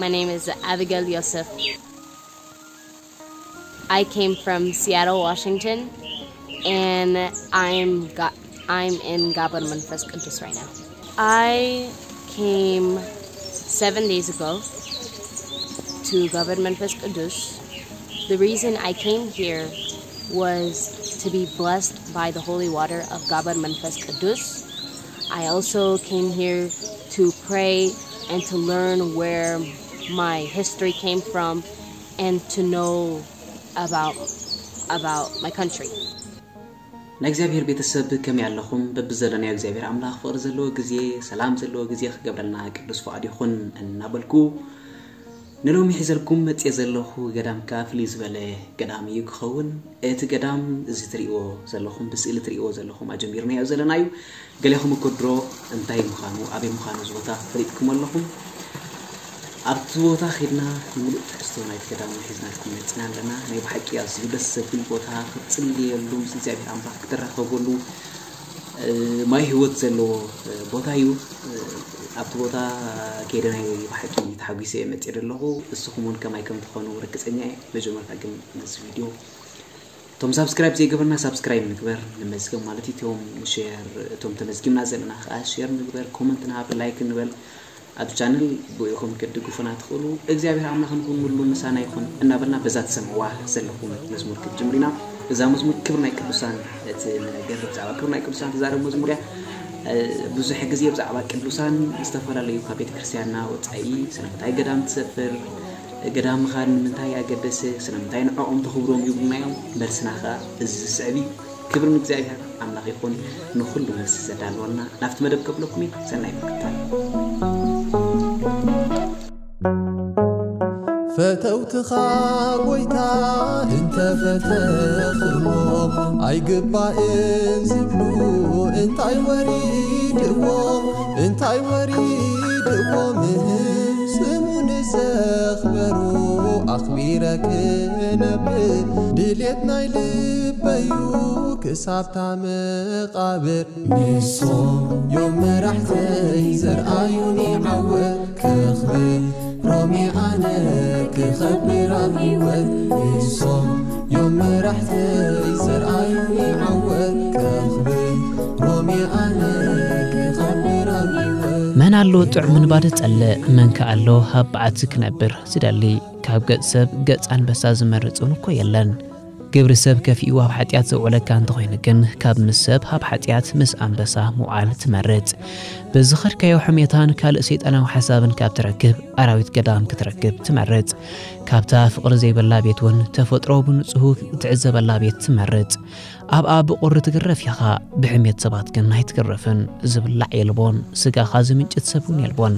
My name is Abigail Yosef. I came from Seattle, Washington, and I'm got I'm in Gabar Manfes Kudus right now. I came seven days ago to Gabar Manfes Kudus. The reason I came here was to be blessed by the holy water of Gabar Manfes Kudus. I also came here to pray and to learn where my history came from and to know about about my country. ናይ እግዚኣብሔር ቤተሰብ ከመይ ኣለኹም? በብዘለናዮ እግዚኣብሔር ኣምላኽ ፍቕሪ ዘለዎ ግዜ፣ ሰላም ዘለዎ ግዜ ክገብረልና ቅዱስ ፍቓድ ይኹን እናበልኩ፣ ንሎሚ ሒዘልኩም መጽየ ዘለኹ ገዳም ከኣ ፍልይ ዝበለ ገዳም እዩ ክኸውን። እቲ ገዳም እዚ ትርእይዎ ዘለኹም፣ ብስእሊ ትርእይዎ ዘለኹም ኣጀሚርናዮ ዘለና እዩ። ገሌኹም እኮ ድሮ እንታይ ምዃኑ፣ ኣበይ ምዃኑ እዚ ቦታ ፈሊጥኩም ኣለኹም። ኣብቲ ቦታ ኺድና ንምሉእ ትሕዝቶ ናይቲ ገዳም ሒዝናልኩም መጺና ኣለና። ናይ ብሓቂ ኣዝዩ ደስ ዘብል ቦታ፣ ክትጽልየሉ ምስ እግዚኣብሔር ኣምላኽ ክትራኸበሉ፣ ማይ ህይወት ዘለዎ ቦታ እዩ። ኣብቲ ቦታ ከይደ ናይ ብሓቂ ተሓጒሰ እየ መፅእ ዘለኹ። እስኹም እውን ከማይ ከም ትኾኑ ርግፀኛ እየ። መጀመርታ ግን ነዚ ቪድዮ እቶም ሳብስክራይብ ዘይገበርና ሳብስክራይብ ንግበር፣ ንመዝገብ ማለት እዩ። እቶም ሼር፣ እቶም ተመዝጊብና ዘለና ከዓ ሼር ንግበር፣ ኮመንት ንሃብ፣ ላይክ ንበል። ኣብ ቻነል ብኢኹም ክትድግፉና ትኽእሉ። እግዚኣብሔር ኣምላኽ ንኹን ሙሉ ምሳና ይኹን እናበልና በዛ ትሰምዕዋ ዘለኹም መዝሙር ክትጅምሩ ኢና። እዛ መዝሙር ክብር ናይ ቅዱሳን እቲ ነገር ብዛዕባ ክብር ናይ ቅዱሳን ትዛረብ መዝሙር እያ። ብዙሕ ግዜ ብዛዕባ ቅዱሳን ዝተፈላለዩ ካብ ቤተ ክርስቲያንና ወፃኢ ስለምንታይ ገዳም ትሰፍር፣ ገዳም ምኻድ ንምንታይ ኣገደሰ፣ ስለምንታይ ንዕኦም ተኽብሮም ይብሉና እዮም። መልስና ከዓ እዚ ዝስዕብ እዩ። ክብሪ ንእግዚኣብሔር ኣምላኽ ይኹን፣ ንኹሉ መልሲ ዘዳለወልና። ናብቲ መደብ ከብለኩም እዩ። ሰናይ ምክትታል። ፈተውትኻ ጎይታ እንተፈተኽዎ ኣይግባእን ዝብሉ እንታይ ወሪድዎ እንታይ ወሪድዎ ምህም ስሙ ንዘኽበሩ ኣኽቢረ ክነብር ድልየት ናይ ልበዩ ክሳብታ መቓብር ንሶም ዮም መራሕተይ ዘርኣዩኒ ዓወት ከኽብር ሮሜ ኣነ ክኸብር ኣብ ህይወት ንሶም ዮም መራሕተይ ዘርኣዩኒ ዓወት ከኽብር ሮሜ ኣነ ክኸብር ኣብ ህይወት መን ኣሎ ጥዑም ምንባር ዝጸልእ? መን ከ ኣሎ ኣብ በዓቲ ክነብር ዝደሊ? ካብ ገጽ ሰብ ገጽ ኣንበሳ ዝመርጽ እውን እኮ የለን። ግብሪ ሰብ ከፊኡ ኣብ ሓጢኣት ዘውዕለካ እንተኾይኑ ግን፣ ካብ ምስ ሰብ ኣብ ሓጢኣት ምስ ኣንበሳ ምውዓል ትመርጽ። ብዝኸድካዮ ሕሜታን ካልእ ሰይጣናዊ ሓሳብን ካብ ትረክብ፣ ኣራዊት ገዳም ክትረክብ ትመርጽ። ካብታ ፍቕሪ ዘይብላ ቤት እውን ተፈጥሮ ብንጹሁ እትዕዘበላ ቤት ትመርጽ። ኣብኣ ብቑሪ ትግረፍ ኢኻ፣ ብሕሜት ሰባት ግን ኣይትግረፍን። ዝብላዕ የልቦን፣ ስጋኻ ዝምንጭት ሰብ እውን የልቦን።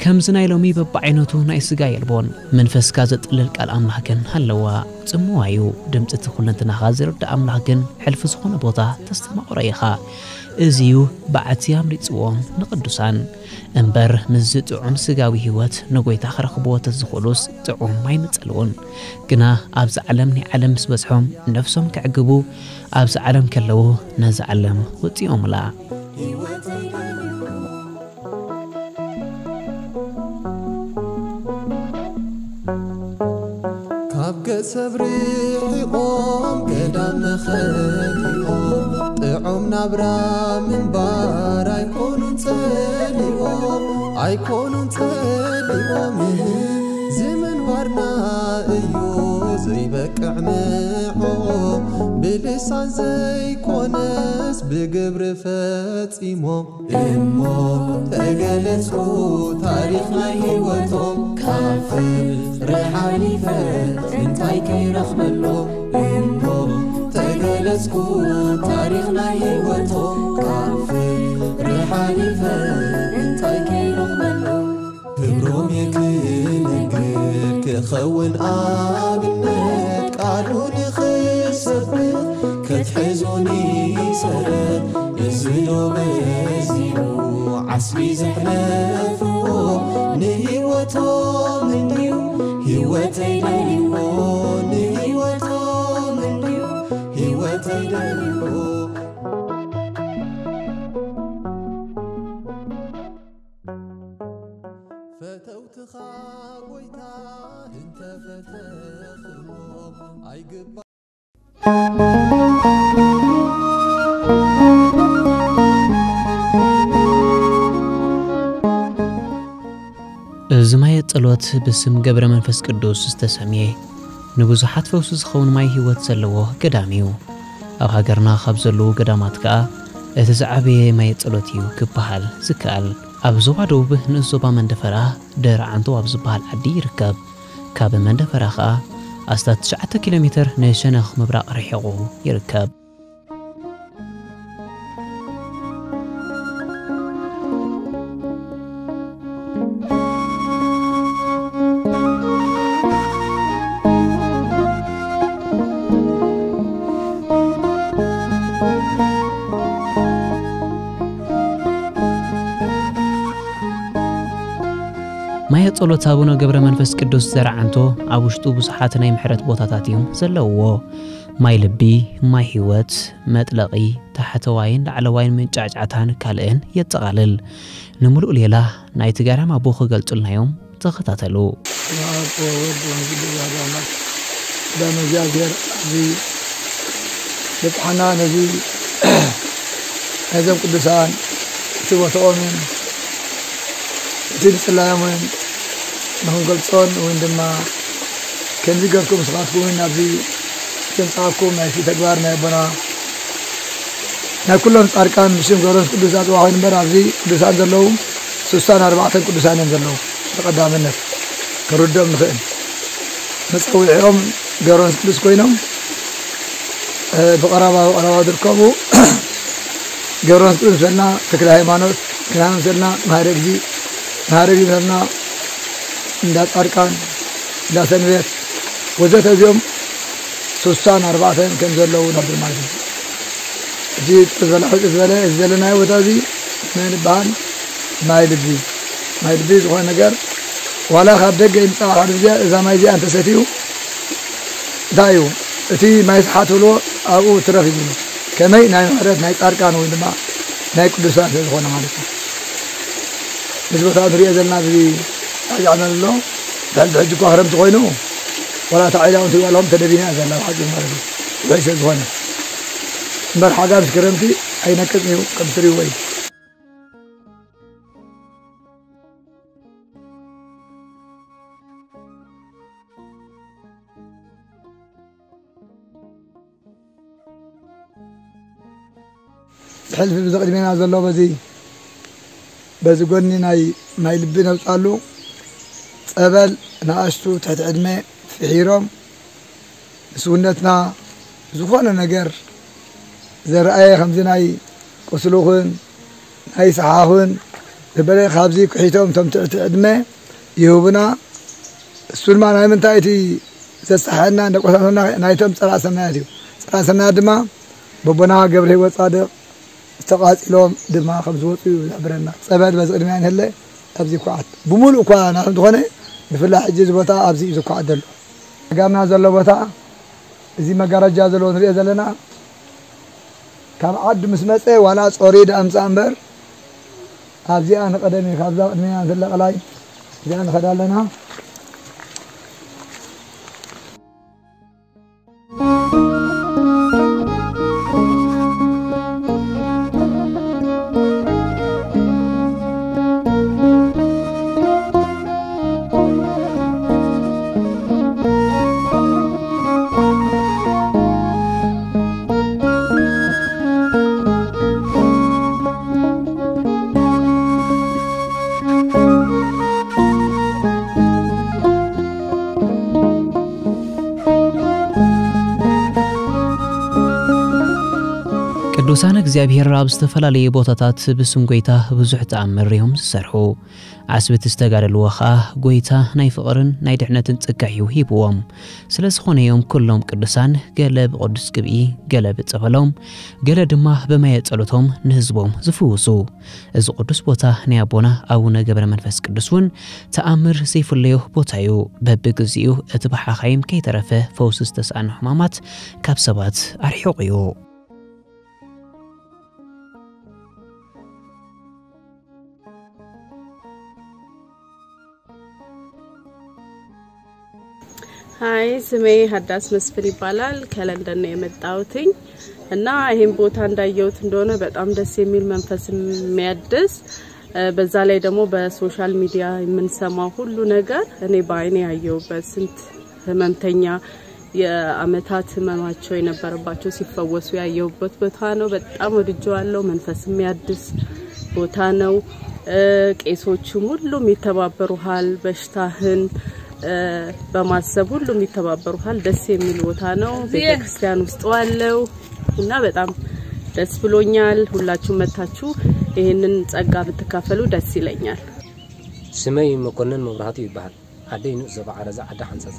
ከምዚ ናይ ሎሚ በብዓይነቱ ናይ ስጋ የልቦን። መንፈስካ ዘጥልል ቃል ኣምላኽ ግን ኣለዋ። ጽምዋ እዩ። ድምጺ እቲ ኩለንትናኻ ዝርዳእ ኣምላኽ ግን ሕልፊ ዝኾነ ቦታ ተስተማቕሮ ኢኻ። እዚ እዩ በዓቲ ኣምሪጽዎም ንቕዱሳን። እምበር ምስዚ ጥዑም ስጋዊ ህይወት ንጎይታ ክረኽብዎ ተዝኽእሉስ ጥዑም ኣይምጸልውን። ግና ኣብዚ ዓለም ናይ ዓለም ምስ በዝሖም ነፍሶም ከዕግቡ ኣብዚ ዓለም ከለዉ ነዚ ዓለም ወጺኦምላ። ካብ ገጽ ሰብ ርሒቖም ገዳም መኸዲኦም ጥዑም ናብራ ምንባር ኣይኮኑን ጸሊዎም ኣይኮኑን ጸሊዎም እዚ ምንባርና እዩ ዘይበቅዕ ንዕኦም ብልሳን ዘይኮነስ ብግብሪ ፈጺሞም እሞ ተገለጽኩ ታሪኽ ናይ ህይወቶም ካብ ፍቕሪ ሓሊፈ እንታይ ከይረኽበሎም እሞ ተገለጽኩ ታሪኽ ናይ ህይወቶም ካብ ፍቕሪ ሓሊፈ እንታይ ከይረኽበሎም ክብሮም የክንግር ክኸውን ኣብነት ቃሉ ንኽሰብክ ክትሕዙኒ ሰረት እዚ ዶ በዚሑ ዓስቢ ዘሕለፍዎ ንህይወቶም እንድዩ ህይወተይ ደልዎ ንህይወቶም እንድዩ ህይወተይ ደልዎ ፈተውትኻ ጎይታ እዚ ማየ ጸሎት ብስም ገብረ መንፈስ ቅዱስ ዝተሰምየ ንብዙሓት ፈውሲ ዝኸውን ማይ ህይወት ዘለዎ ገዳም እዩ። ኣብ ሃገርና ካብ ዘለዉ ገዳማት ከኣ እቲ ዝዓበየ ማየ ጸሎት እዩ ክበሃል ዝከኣል። ኣብ ዞባ ደቡብ ንኡስ ዞባ መንደፈራ ደረዓንቶ ኣብ ዝበሃል ዓዲ ይርከብ። ካብ መንደፈራ ከኣ ኣስታት ትሽዓተ ኪሎ ሜተር ንሸነኽ ምብራቕ ርሒቑ ይርከብ። ማየ ጸሎት ኣቡነ ገብረ መንፈስ ቅዱስ ዘርዓንቶ ኣብ ውሽጡ ብዙሓት ናይ ምሕረት ቦታታት እዮም ዘለውዎ። ማይ ልቢ፣ ማይ ህይወት፣ መጥለቒ፣ ታሕተዋይን ላዕለዋይን መንጫዕጫዕታን ካልእን የጠቓልል። ንምሉእ ሌላ ናይቲ ገዳም ኣቦ ክገልጹልና እዮም። ተኸታተሉ። በስመ አብ ወወልድ ወመንፈስ ቅዱስ አሐዱ አምላክ። ሰላም እግዚኣብሔር ኣብዚ በጽሓና ነዚ ናይዞም ቅዱሳን እቲ ቦታኦምን እቲ ጽላዮምን ንኽንገልጾን እውን ድማ ከምዚ ገርኩም ንስኻትኩም እውን ኣብዚ ዘምጻእኩም ናይቲ ተግባር ናይ ኣቦና ናይ ኩሎም ጻድቃን ብሽም ገብረመንፈስ ቅዱስ ኣጽዋዕ ኮይኑ እምበር ኣብዚ ቅዱሳን ዘለዉ ስሳን ኣርባዕተን ቅዱሳን እዮም ዘለዉ። ብቐዳምነት ክንርድኦም ንኽእል መጸውዒኦም ገብረመንፈስ ቅዱስ ኮይኖም እ፣ ብቐረባ ብቐረባ ዝርከቡ ገብረመንፈስ ቅዱስ መሰልና ተክለ ሃይማኖት፣ ተክለ ሃይማኖት መሰልና ማህረ እግዚ፣ ማህረ እግዚ መሰልና እንዳ ጻድቃን፣ እንዳ ሰንበት ወዘተ እዚኦም ስሳን ኣርባዕተን ከም ዘለዉ ነብር ማለት እዩ። እዚ ዝበለ ሕጽ ዝበለ እዚ ዘለናዮ ቦታ እዚ መን ይበሃል? ማይ ልቢ። ማይ ልቢ ዝኾነ ነገር ዋላ ካብ ደገ ይምጻእ ሓደ ግዜ እዛ ማይ እዚኣ እንተሰትዩ እንታይ እዩ እቲ ማይ ሰሓት ብሎ ኣብኡ ትረፍ ይብሉ። ከመይ ናይ ምሕረት ናይ ጻድቃን ወይ ድማ ናይ ቅዱሳን ስለ ዝኾነ ማለት እዩ። እዚ ቦታ ንሪኦ ዘለና እዚ ጣዕጫ ዘሎ ድሕሪ ሕጂ እኳ ክረምቲ ኮይኑ ዋላ እታ ዒላ እውን ትሪእዋ ኣለኹም ተደቢና እያ ዘላ ብሓቂ ማለት እዩ። ውሕጅ ስለ ዝኾነ እምበር ሓጋምስ ክረምቲ ኣይነቅጽን እዩ ከም ትሪእዎ እዩ። ብሕልፊ ብዚ ቅድሜና ዘሎ በዚ በዚ ጎኒ ናይ ማይ ልቢ ነውፃሉ ፀበል ንኣሽቱ ትሕቲ ዕድመ ፍሒሮም ንስውነትና ዝኾነ ነገር ዘረኣየ ከምዚ ናይ ቁስሉኽን ናይ ሰሓኽን ዝበለ ካብዚ ክሒቶም እቶም ትሕቲ ዕድመ ይህቡና። እሱ ድማ ናይ ምንታይ እቲ ዘሳሕና ደቆሳትና ናይቶም ፀላእ ሰናያት እዩ። ፀላእ ሰናያት ድማ በቦና ገብረ ህይወት ፃድቕ ዝተቓፂሎም ድማ ከም ዝወፁ እዩ ዝሕብረና። ፀበል በዚ ቅድሚያ ንህለ ኣብዚ ኳዓት ብምሉእ እኳ ናት እንተኾነ ብፍላይ ሕጂ እዚ ቦታ ኣብዚ እዩ ዝኳዓት ዘሎ። ጋምና ዘሎ ቦታ እዚ መጋረጃ ዘለዎ ንሪኦ ዘለና ካብ ዓዱ ምስ መፀ ዋላ ጾሪ ደኣ ምፃእ እምበር ኣብዚኣ ንቐደም እዩ። ካብዛ ቅድሚና ንትለቐላይ እዚኣ ንኸዳ ኣለና። ቅዱሳን እግዚኣብሔር ኣብ ዝተፈላለዩ ቦታታት ብስም ጎይታ ብዙሕ ተኣምር እዮም ዝሰርሑ። ዓስብቲ ዝተጋደልዎ ኸኣ ጎይታ ናይ ፍቕርን ናይ ድሕነትን ጸጋ እዩ ሂብዎም። ስለ ዝኾነ እዮም ኩሎም ቅዱሳን ገለ ብቕዱስ ቅብኢ፣ ገለ ብጸበሎም፣ ገለ ድማ ብማየ ጸሎቶም ንህዝቦም ዝፍውሱ። እዚ ቅዱስ ቦታ ናይ ኣቦና ኣቡነ ገብረ መንፈስ ቅዱስ እውን ተኣምር ዘይፍለዮ ቦታ እዩ። በብግዜኡ እቲ ብሓኻይም ከይተረፈ ፈውሲ ዝተሳእኖ ሕማማት ካብ ሰባት ኣርሒቑ እዩ። ሀይ፣ ስሜ ሀዳስ መስፍን ይባላል። ከለንደን ነው የመጣሁትኝ እና ይህን ቦታ እንዳየሁት እንደሆነ በጣም ደስ የሚል መንፈስ የሚያድስ፣ በዛ ላይ ደግሞ በሶሻል ሚዲያ የምንሰማው ሁሉ ነገር እኔ በአይኔ ያየሁበት፣ ስንት ህመምተኛ የአመታት ህመማቸው የነበረባቸው ሲፈወሱ ያየሁበት ቦታ ነው። በጣም ወድጀዋለሁ። መንፈስ የሚያድስ ቦታ ነው። ቄሶቹም ሁሉም ይተባበሩሃል። በሽታህን በማሰብ ሁሉም ይተባበሩሃል። ደስ የሚል ቦታ ነው። ቤተክርስቲያን ውስጥ ዋለው እና በጣም ደስ ብሎኛል። ሁላችሁም መታችሁ ይህንን ጸጋ ብትካፈሉ ደስ ይለኛል። ስመይ መኮንን መብራህቱ ይበሃል። ዓደይ ንኡስ ዞባ ዓረዛ ዓዲ ሓንፀፃ።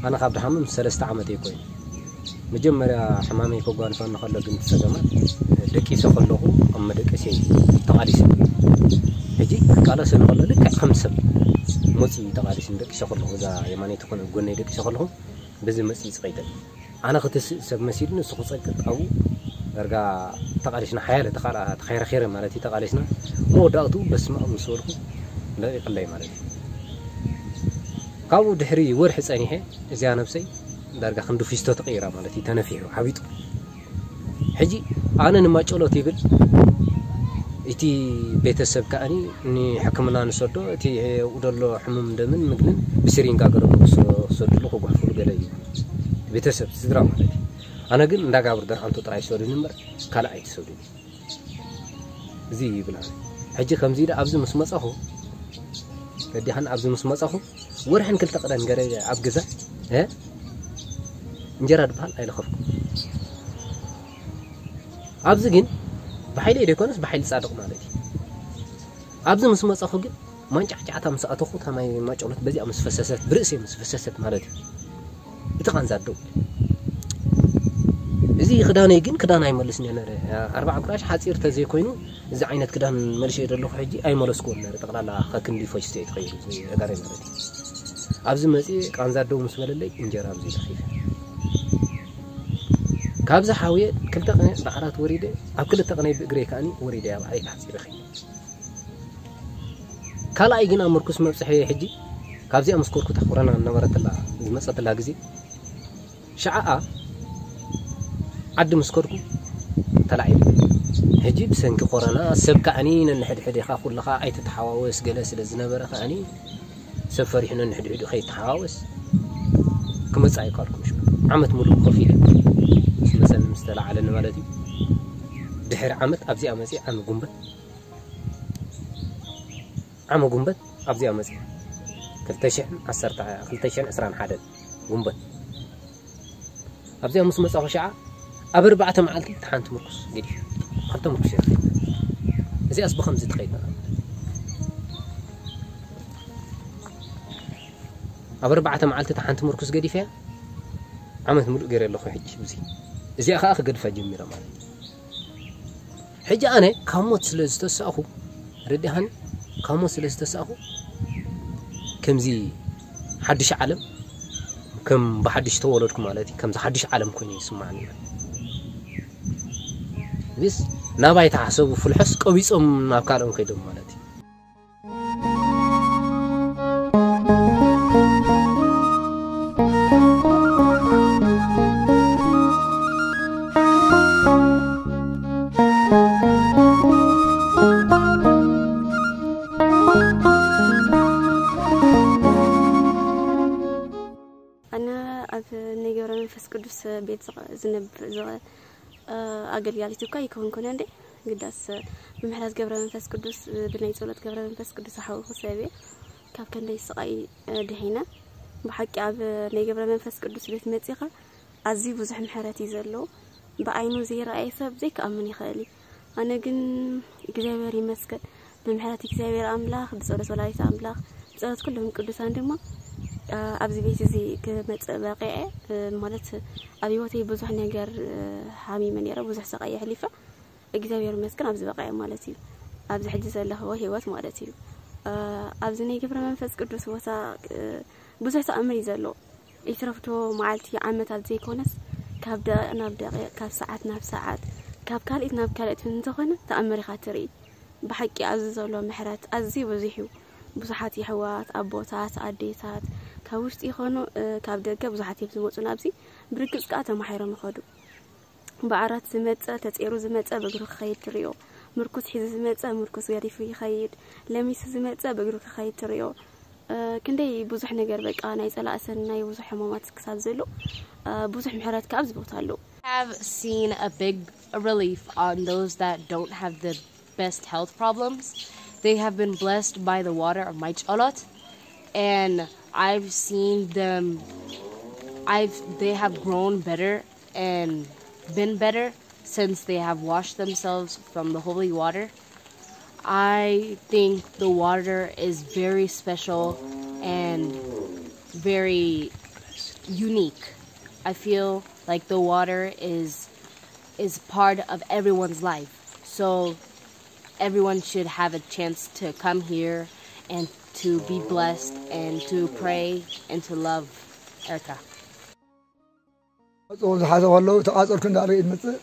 ኣነ ካብ ድሓምም ሰለስተ ዓመት እየ ኮይኑ። መጀመርያ ሕማመይ ከጓንፈኒ ከሎ ግን እቲ ፀገማት ደቂሰ ከለኹ ኣብ መደቀሲ ተቓሊሱ። ሕጂ ክቃለሰ ንከሎ ልክዕ ከም ሰብ መፅኡ ተቓሊሱ ደቂሰ ከለኹ እዛ የማነይቲ ኮነ ጎነይ ደቂሰ ከለኹ በዚ መፅኡ ይፅቐይተል። ኣነ ክትስእ ሰብ መሲሉ ንሱ ክፀቅጥ ኣብኡ ዳርጋ ተቓሊስና ሓያለ ተኻላ ተኸረኸረ ማለት እዩ ተቓሊስና። መወዳእቱ በስመ ኣብ ምስ በልኩ ለቂቕለይ ማለት እዩ። ካብኡ ድሕሪ ወርሒ ፀኒሐ እዚኣ ነብሰይ ዳርጋ ክንዲ ፊስቶ ተቐይራ ማለት እዩ። ተነፊሑ ሓቢጡ። ሕጂ ኣነ ንማጨሎት ይብል እቲ ቤተሰብ ከኣኒ ንሕክምና ንሰዶ እቲ ኣብኡ ዘሎ ሕሙም ደምን ምግልን ብስሪንጋ ገረሙ ክሰድሉ ክጓሕፍሉ ገለ እዩ። ቤተሰብ ስድራ ማለት እዩ። ኣነ ግን እንዳጋብር ደርዓንቶ ጥራይ ሰዱኒ እምበር ካልእ ኣይትሰዱኒ። እዚ ይብል ኣነ። ሕጂ ከምዚ ኢለ ኣብዚ ምስ መጻኹ፣ ረዲኻን ኣብዚ ምስ መጻኹ፣ ወርሕን ክልተ ቀዳን ገረ ኣብ ገዛ፣ እ? እንጀራ ድበሃል ኣይለኸፍኩ። ኣብዚ ግን ብሓይሊ ደይኮነስ ብሓይሊ ጻድቕ ማለት እዩ። ኣብዚ ምስ መጻኹ ግን ማንጫዕጫዕታ ምስ ኣተኹ፣ እታ ማይ ማጨሎት በዚኣ ምስ ፈሰሰት፣ ብርእሰይ ምስ ፈሰሰት ማለት እዩ። እቲ ቃንዛ ኣደው። እዚ ክዳነይ ግን ክዳን ኣይመልስን እየ ነረ። ኣርባዓ ቁራሽ ሓጺር ተዘይኮይኑ፣ እዚ ዓይነት ክዳን መልሽ እየ ዘለኹ ሕጂ ኣይመለስኩዎን ነረ። ጠቕላላ ከክንዲ ፈሽቶ እየ ተኸይሩ፣ እዚ ኣጋረይ ማለት እዩ። ኣብዚ መጺኤ ቃንዛ ኣደው ምስ በለለይ፣ እንጀራ ኣብዚ ተኺፈ። ካብዚ ሓውየ ክልተ ቅነ ብዓራት ወሪደ፣ ኣብ ክልተ ቅነ ብእግረይ ከኣኒ ወሪደ፣ ኣብ ዓሌት ሓጺረ ኸይደ። ካልኣይ ግን ኣብ ምርኩስ መብጽሐ ሕጂ ካብዚኣ ምስ ኮርኩ እታ ኮረና ነበረትላ ዝመጸትላ ግዜ ሸዓኣ ዓዲ ምስ ከድኩ ተላዒለ። ሕጂ ብሰንኪ ኮረና ሰብ ከኣኒ ነንሕድሕድ ኢኻ ኩልኻ ኣይትተሓዋወስ ገለ ስለ ዝነበረ ከኣኒ ሰብ ፈሪሑ ነንሕድሕዱ ከይተሓዋወስ ክመጽእ ኣይካልኩም። ሽዑ ዓመት ሙሉእ ኮፍ ኢለ ምስ መጸኒ ምስ ተላዓለኒ ማለት እዩ። ድሕሪ ዓመት ኣብዚኣ መጽእ ዓሚ ጉንበት ዓመ ጉንበት ኣብዚኣ መፅእ ክልተ ሽሕን ዓሰርተ ክልተ ሽሕን ዕስራን ሓደን ጉንበት ኣብዚኣ ምስ መፃኹ ሸዓ ኣብ ኣርባዕተ መዓልቲ እቲ ሓንቲ ምርኩስ ገዲፍ ክልተ ምርኩስ እየ እዚኣስ ብከምዚ ትኸይድ ኣብ ኣርባዕተ መዓልቲ እቲ ሓንቲ ምርኩስ ገዲፍ እያ ዓመት ምሉእ ገይረ ኣለኹ ሕጂ ብዙ እዚኣ ከዓ ክገድፋ ጀሚረ ማለት እዩ ሕጂ ኣነ ካብ ሞት ስለ ዝተሳእኹ ረዲሃኒ ካብ ሞት ስለ ዝተሳእኹ ከምዚ ሓድሽ ዓለም ከም ብሓድሽ ተወለድኩ ማለት እዩ ከምዚ ሓድሽ ዓለም ኮይኑ ይስማዕኒ ምስ ናባይ ተሓሰቡ ፍልሖስ ቀቢፆም ናብ ካልኦም ከይዶም ማለት እዩ ኣነ ኣብ ናይ ገብረ መንፈስ ቅዱስ ቤት ዝነብር ኣገልጋሊት እኳ ይከውን ኮነ እንዴ ግዳስ ብምሕረት ገብረ መንፈስ ቅዱስ ብናይ ጸሎት ገብረ መንፈስ ቅዱስ ኣሓውኹ ሰብየ ካብ ከንደይ ስቓይ ድሒነ ብሓቂ ኣብ ናይ ገብረ መንፈስ ቅዱስ ቤት መጺኻ ኣዝዩ ብዙሕ ምሕረት እዩ ዘለዎ ብዓይኑ ዘይረኣየ ሰብ ዘይክኣምን ይኽእል እዩ ኣነ ግን እግዚኣብሔር ይመስገን ብምሕረት እግዚኣብሔር ኣምላኽ ብጸሎት ወላዲት ኣምላኽ ብጸሎት ኩሎም ቅዱሳን ድማ ኣብዚ ቤት እዚ ክመጽእ በቂዐ ማለት ኣብ ህይወተይ ብዙሕ ነገር ሓሚመ ነይረ ብዙሕ ስቓይ የሕሊፈ እግዚኣብሔር ይመስገን ኣብዚ በቂዐ ማለት እዩ ኣብዚ ሕጂ ዘለኽዎ ህይወት ማለት እዩ ኣብዚ ናይ ግብረ መንፈስ ቅዱስ ቦታ ብዙሕ ተኣምር እዩ ዘሎ ይትረፍዶ መዓልቲ ዓመታት ዘይኮነስ ካብ ደቂቕ ናብ ደቂቕ ካብ ሰዓት ናብ ሰዓት ካብ ካልኢት ናብ ካልኢት እንተኾነ ተኣምር ኢኻ ትርኢ ብሓቂ ኣብዚ ዘሎ ምሕረት ኣዝዩ ብዙሕ እዩ ብዙሓት የሕዋት ኣቦታት ኣዴታት ካብ ውሽጢ ይኾኑ ካብ ደገ ብዙሓት እዮም ዝመፁ ናብዚ። ብርግፅ ከዓ ተማሒሮም ይኸዱ። ብዓራት ዝመፀ ተፀይሩ ዝመፀ ብእግሩ ክኸይድ ትሪኦ። ምርኩስ ሒዙ ዝመፀ ምርኩስ ገዲፉ ይኸይድ። ለሚሱ ዝመፀ ብእግሩ ክኸይድ ትሪኦ። ክንደይ ብዙሕ ነገር በቃ ናይ ፀላእሰን ናይ ብዙሕ ሕማማት ክሳብ ዘሎ ብዙሕ ምሕረት ከዓ ኣብዚ ቦታ ኣለዉ። Have seen a big relief on those that don't have the best health problems. They have been blessed by the water of my cholot, and I've seen them. I've they have grown better and been better since they have washed themselves from the holy water. I think the water is very special and very unique. I feel like the water is is part of everyone's life. So everyone should have a chance to come here and to be blessed and to pray and to love Erica. መፅኡ ዝሓዘ ከለዉ ተቓፀልኩ እንዳበለ እዩ ዝመፅእ።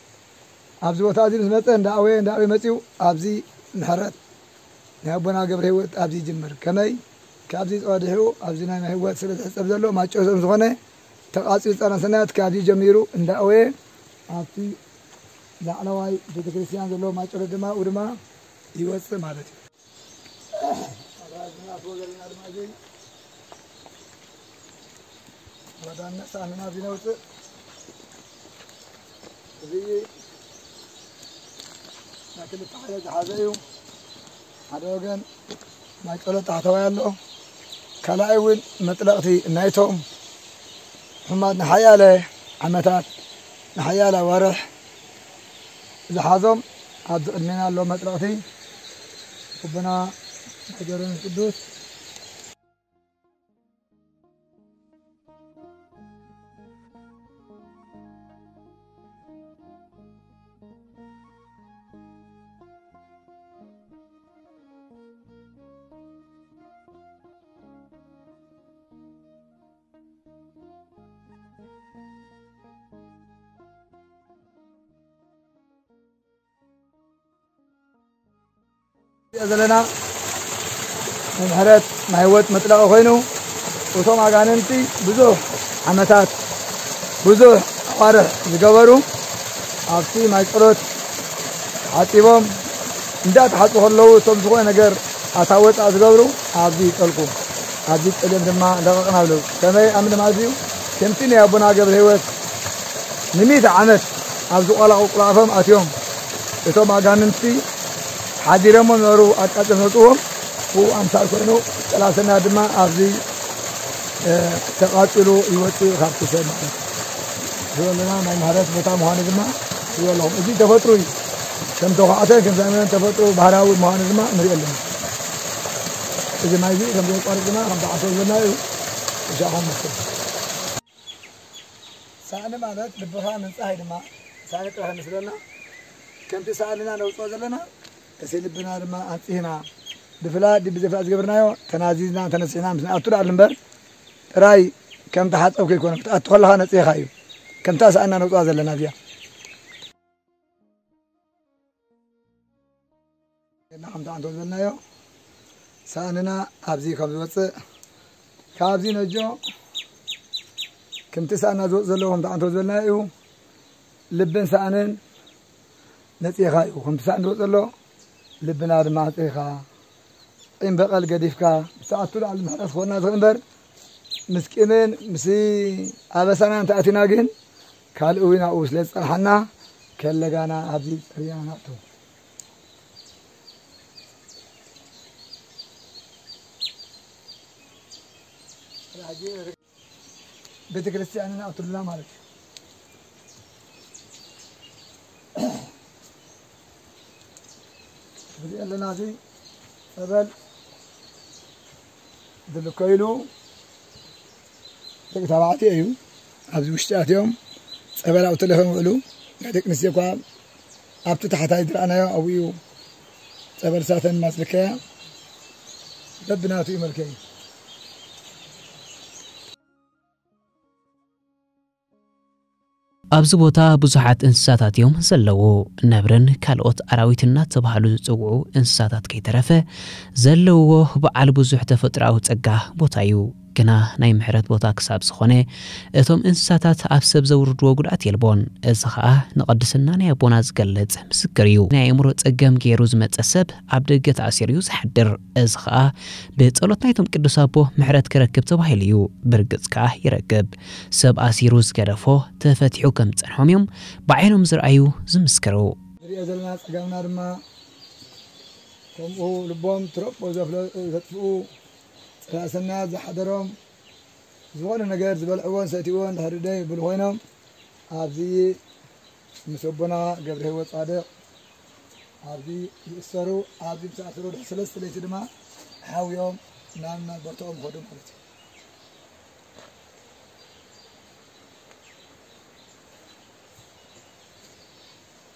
ኣብዚ ቦታ እዚ ምስ መፀ እንዳኣወየ እንዳኣወየ መፂኡ ኣብዚ ምሕረት ናይ ኣቦና ገብረ ህይወት ኣብዚ ይጅምር። ከመይ ካብዚ ፀዲሑ ኣብዚ ናይ ህይወት ስለ ዝሕፀብ ዘሎ ማጨሶም ዝኾነ ተቓፂሉ ፀረ ሰናያት ካብዚ ጀሚሩ እንዳኣወየ ኣብቲ ላዕለዋይ ቤተክርስትያን ዘለዎ ማጨሎ ድማ ኣብኡ ድማ ይወፅእ ማለት እዩ። ኣትዎ ዘለና ድማ እዚ ወዳነ ሳህንና እዚ ነውፅእ። እዚ ናይ ክልተ ሓደ ዝሓዘ እዩ። ሓደ ወገን ናይ ጸሎት ታሕተዋይ ኣሎ። ካልኣይ እውን መጥለቕቲ ናይቶም ሕማት ንሓያለ ዓመታት ንሓያለ ኣዋርሕ ዝሓዞም ኣብዚ ቅድሜና ኣሎ መጥለቕቲ ኣቦና ናይ ገብረ መንፈስ ቅዱስ። ዘለና ናይ ምሕረት ናይ ህይወት መጥለቒ ኮይኑ እቶም ኣጋንንቲ ብዙሕ ዓመታት ብዙሕ ኣዋርሕ ዝገበሩ ኣብቲ ማይ ጸሎት ተሓጺቦም እንዳተሓጹ ከለዉ እቶም ዝኾነ ነገር ኣታ ወጻእ ዝገብሩ ኣብዚ ይጠልቁ ኣብዚ ጸሊኦም ድማ ለቐቕና ኣለዉ። ከመይ ኣምን ማለት እዩ ከምቲ ናይ ኣቦና ገብረ ህይወት ንሚእቲ ዓመት ኣብ ዝቆላቑ ቁላፎም ኣትዮም እቶም ኣጋንንቲ ሓዲሮሞ ነበሩ ኣቃጽም ነጽዎም ብኡ ኣምሳል ኮይኑ ጸላእትና ድማ ኣብዚ ተቓጺሉ ይወጽእ ካብቲ ሰብ ማለት እዩ። እዚ ዘለና ናይ ምሕረት ቦታ ምዃኑ ድማ ይብለኹም። እዚ ተፈጥሮ እዩ። ከም ተኳዕተ ከም ዘመን ተፈጥሮ ባህራዊ ምዃኑ ድማ ንሪኦ ኣለና። እዚ ማይ እዚ ከም ዘየቋርጥ ድማ ከም ተዓፈ ዝበልና እዩ። እሻኹም መስል ሳእኒ ማለት ልብኻ ምንጻህ ድማ ሳእኒ ጥራሕ ምስለና ከምቲ ሳእንና ነውፅኦ ዘለና እቲ ልብና ድማ ኣንፂህና ብፍላ ድቢ ዘፍላ ዝገብርናዮ ተናዚዝና ተነሲሕና ምስ ንኣቱ ደኣሉ እምበር ጥራይ ከም ተሓፀብ ከይኮነ ክትኣቱ ከለኻ ነፂህኻ እዩ ከምታ ሳእንና ነውፅኣ ዘለና እዚኣ ከምቲ ዓንቶ ዝበልናዮ ሳእንና ኣብዚ ከም ዝወፅእ ካብዚ ነጆ ከምቲ ሳእና ዝወፅ ዘለዎ ከምቲ ዓንቶ ዝበልናዮ እዩ ልብን ሳእንን ነፂኻ እዩ ከምቲ ሳእን ዝወፅ ዘሎ ልብና ድማ ኣፅኢኻ ቂም በቐል ገዲፍካ ምስ ኣቱ ላዕሊ ምሕረት ክኾና ዝኽእል እምበር ምስ ቂምን ምስ ኣበሳና እንተኣቲና ግን ካልእ እውን ኣብኡ ስለ ዝፀንሓና ከለጋና ኣብዚ ፅርያ ናእቱ ቤተ ክርስቲያንና ኣቱልና ማለት እዩ። እዚ ኣለና እዚ ጸበል ዝልከይሉ ደቂ ተባዕትዮ እዩ። ኣብዚ ውሽጢ ኣትዮም ጸበል ኣብኡ ተለኺዮም ይውዕሉ። ናይ ደቂ ኣንስትዮ እኳ ኣብቲ ታሕታይ ዝረኣናዮ ኣብኡ እዩ ጸበል ሳተን ማስልከያ በብናቱ እዩ መልከዩ። ኣብዚ ቦታ ብዙሓት እንስሳታት እዮም ዘለዉ። ነብርን ካልኦት ኣራዊት እናተባህሉ ዝጽውዑ እንስሳታት ከይተረፈ ዘለውዎ በዓል ብዙሕ ተፈጥሮኣዊ ጸጋ ቦታ እዩ። ግና ናይ ምሕረት ቦታ ክሳብ ዝኾነ፣ እቶም እንስሳታት ኣብ ሰብ ዘውርድዎ ጉድኣት የልቦን። እዚ ኸኣ ንቕድስና ናይ ኣቦና ዝገልጽ ምስክር እዩ። ናይ ኣእምሮ ጸገም ገይሩ ዝመጸ ሰብ ኣብ ደገ ተኣሲሩ እዩ ዝሓድር። እዚ ኸኣ ብጸሎት ናይቶም ቅዱስ ኣቦ ምሕረት ክረክብ ተባሂሉ እዩ። ብርግጽ ከኣ ይረክብ። ሰብ ኣሲሩ ዝገደፎ ተፈቲሑ ከም ዝጸንሖም እዮም ብዓይኖም ዝረኣዩ ዝምስክሩ። ንሪኦ ዘለና ጸገምና ድማ ከምኡ ልቦም ትረቦ ዘፍለ-፣ ዘጥፍኡ፣ ጸላኢ ሰናያት ዝሓደሮም፣ ዝኾነ ነገር ዝበልዕዎን ሰትይዎን ድሕሪ ደይ ይብሉ ኮይኖም፣ ኣብዚ ምስ ኣቦና ገብረ ህይወት ጻድቕ ኣብዚ ይእሰሩ፣ ኣብዚ ምስ ኣሰሩ ድሕሪ ሰለስተ ለይቲ ድማ ሓውዮም ናብ መበርትኦም ኸዱ ማለት እዩ።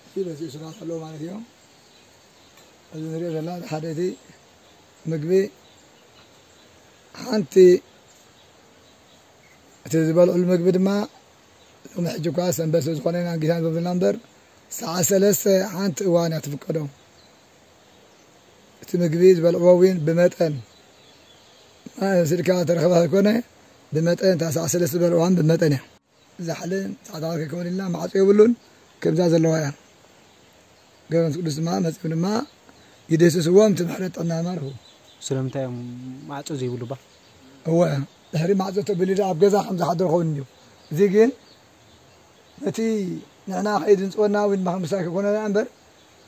እዚ በዚ እሱራት ኣለዉ ማለት እዮም። እዚ ንሪኦ ዘለና ሓደ እቲ ምግቢ ሓንቲ፣ እቲ ዝበልዕሉ ምግቢ ድማ ሎሚ ሕጂ እኳ ሰንበት ስለ ዝኾነ ኢና ጌታን ዘብልና እምበር፣ ሰዓት ሰለስተ ሓንቲ እዋን እያ ትፍቀዶም። እቲ ምግቢ ዝበልዕዎ እውን ብመጠን፣ ስልካ ተረኽበ ኣይኮነ፣ ብመጠን እታ ሰዓት ሰለስተ ዝበልዕዋን ብመጠን እያ። ዛሕልን ጻዕዳ ከይከውን ኢልና ማዕጾ የብሉን፣ ከምዛ ዘለዋ እያ። ገበንስ ቅዱስ ድማ መጺኦም ድማ ይደስስዎም፣ እቲ ምሕረት ጥዕና ማርኹ። ስለምንታይ እዮም ማዕጾ ዘይብሉ ባ? እወ፣ ድሕሪ ማዕጾ ተቢሉ ኣብ ገዛ ከም ዝሓድር ኸውን እንድዩ። እዚ ግን ነቲ ንሕና ከይድንጽወና ወይ ድማ ምሳይ ክኾነና እምበር፣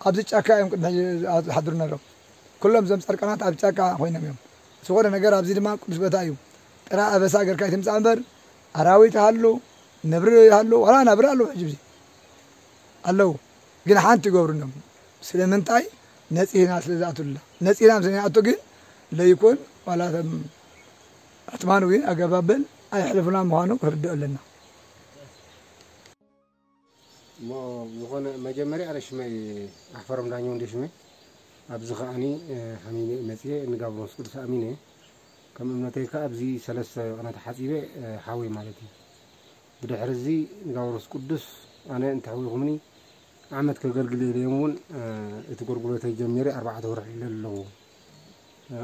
ኣብዚ ጫካ እዮም ቅድሚ ሕጂ ዝሓድሩ ነይሮም። ኩሎም እዞም ጻድቃናት ኣብ ጫካ ኮይኖም እዮም። ዝኾነ ነገር ኣብዚ ድማ ቅዱስ ቦታ እዩ። ጥራ ኣበሳ ገርካ ይትምጻእ እምበር፣ ኣራዊት ይሃሉ፣ ነብሪ ይሃሉ፣ ዋላ ነብሪ ኣለዉ ሕጂ ብዚ ኣለዉ። ግን ሓንቲ ይገብሩን እዮም። ስለምንታይ? ነጺህና ስለ ዝኣትሉና። ነጺህና ምስ ንኣቱ ግን ለይኩን ዋላ እቶም ኣትማን እውን ኣገባብን ኣየሕልፉና ምዃኑ ክርድኦ ኣለና። እሞ ዝኾነ መጀመርያ ኣነ ሽመይ ኣሕፈሮም ዳኘው እንደ ሽመይ ኣብዚ ከዓኒ፣ እ፣ ሓሚመ መጽየ ንጋብሮስ ቅዱስ ኣሚነ ከም እምነተይ ከኣ ኣብዚ ሰለስተ ቅነ ተሓጺበ፣ እ፣ ሓወይ ማለት እዩ። ብድሕሪ እዚ ንጋብሮስ ቅዱስ ኣነ እንተሕዊኹምኒ ዓመት ከገልግል ኢለዮም እውን፣ እ፣ እቲ ጎርጉሎተይ ጀሚረ ኣርባዕተ ወርሒ ኢለ ኣለኹ።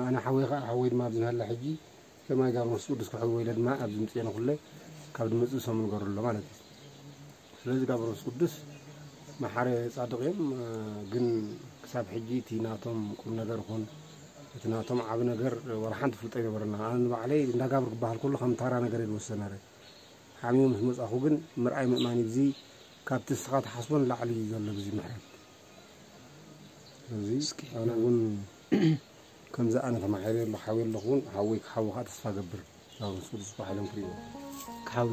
ኣነ ሓወይ ኸዓ፣ ሓወይ ድማ ኣብዚ ናህላ ሕጂ ከማይ ጋብሮስ ቅዱስ ክሕወ ኢለ ድማ ኣብዚ ምፅኤ ንኹለ ካብ ድመፅእ ሰሙን ገሩ ኣሎ ማለት እዩ። ስለዚ ጋብሮስ ቅዱስ መሓረ ጻድቕ እዮም፣ እ፣ ግን ክሳብ ሕጂ እቲ ናቶም ቁም ነገር ይኹን እቲ ናቶም ዓቢ ነገር ወላ ሓንቲ ፍልጦ ኣይነበረና። ኣነ ንባዕለይ እንዳ ጋብር ክበሃል ከሎ ከም ታራ ነገር እየ ዝወስዶ ነይረ። ሓሚሙ ምስ መጻኹ ግን ምርኣይ ምእማን እዩ። እዚ ካብቲ ንስኻ ትሓስቦ ንላዕሊ እዩ ዘሎ ብዚ ምሕረት። ስለዚ እስኪ። ኣነ እውን ከምዚ ኣነ ተማሒረ ኣለኹ፣ ሓዊ ኣለኹ እውን፣ ሓወይ ክሓዊ ከዓ ተስፋ ገብር። ኣብ ምስ ቅዱስ ሓይሎም ክርእይዎ። ክሓዊ።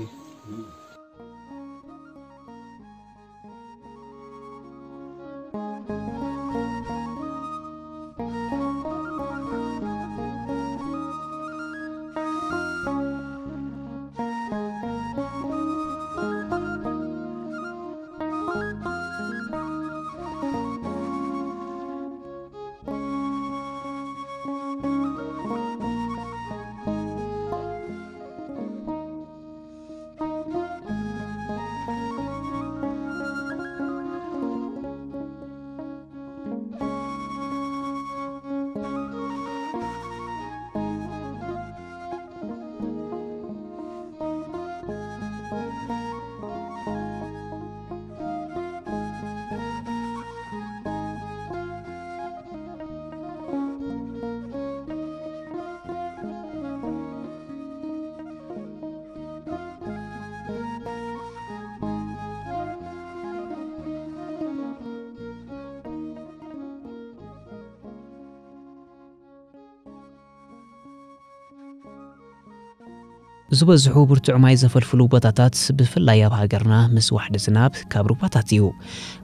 ዝበዝሑ ብርቱዕ ማይ ዘፈልፍሉ ቦታታት፣ ብፍላይ ኣብ ሃገርና ምስ ዋሕዲ ዝናብ ካብ ሩባታት እዩ፣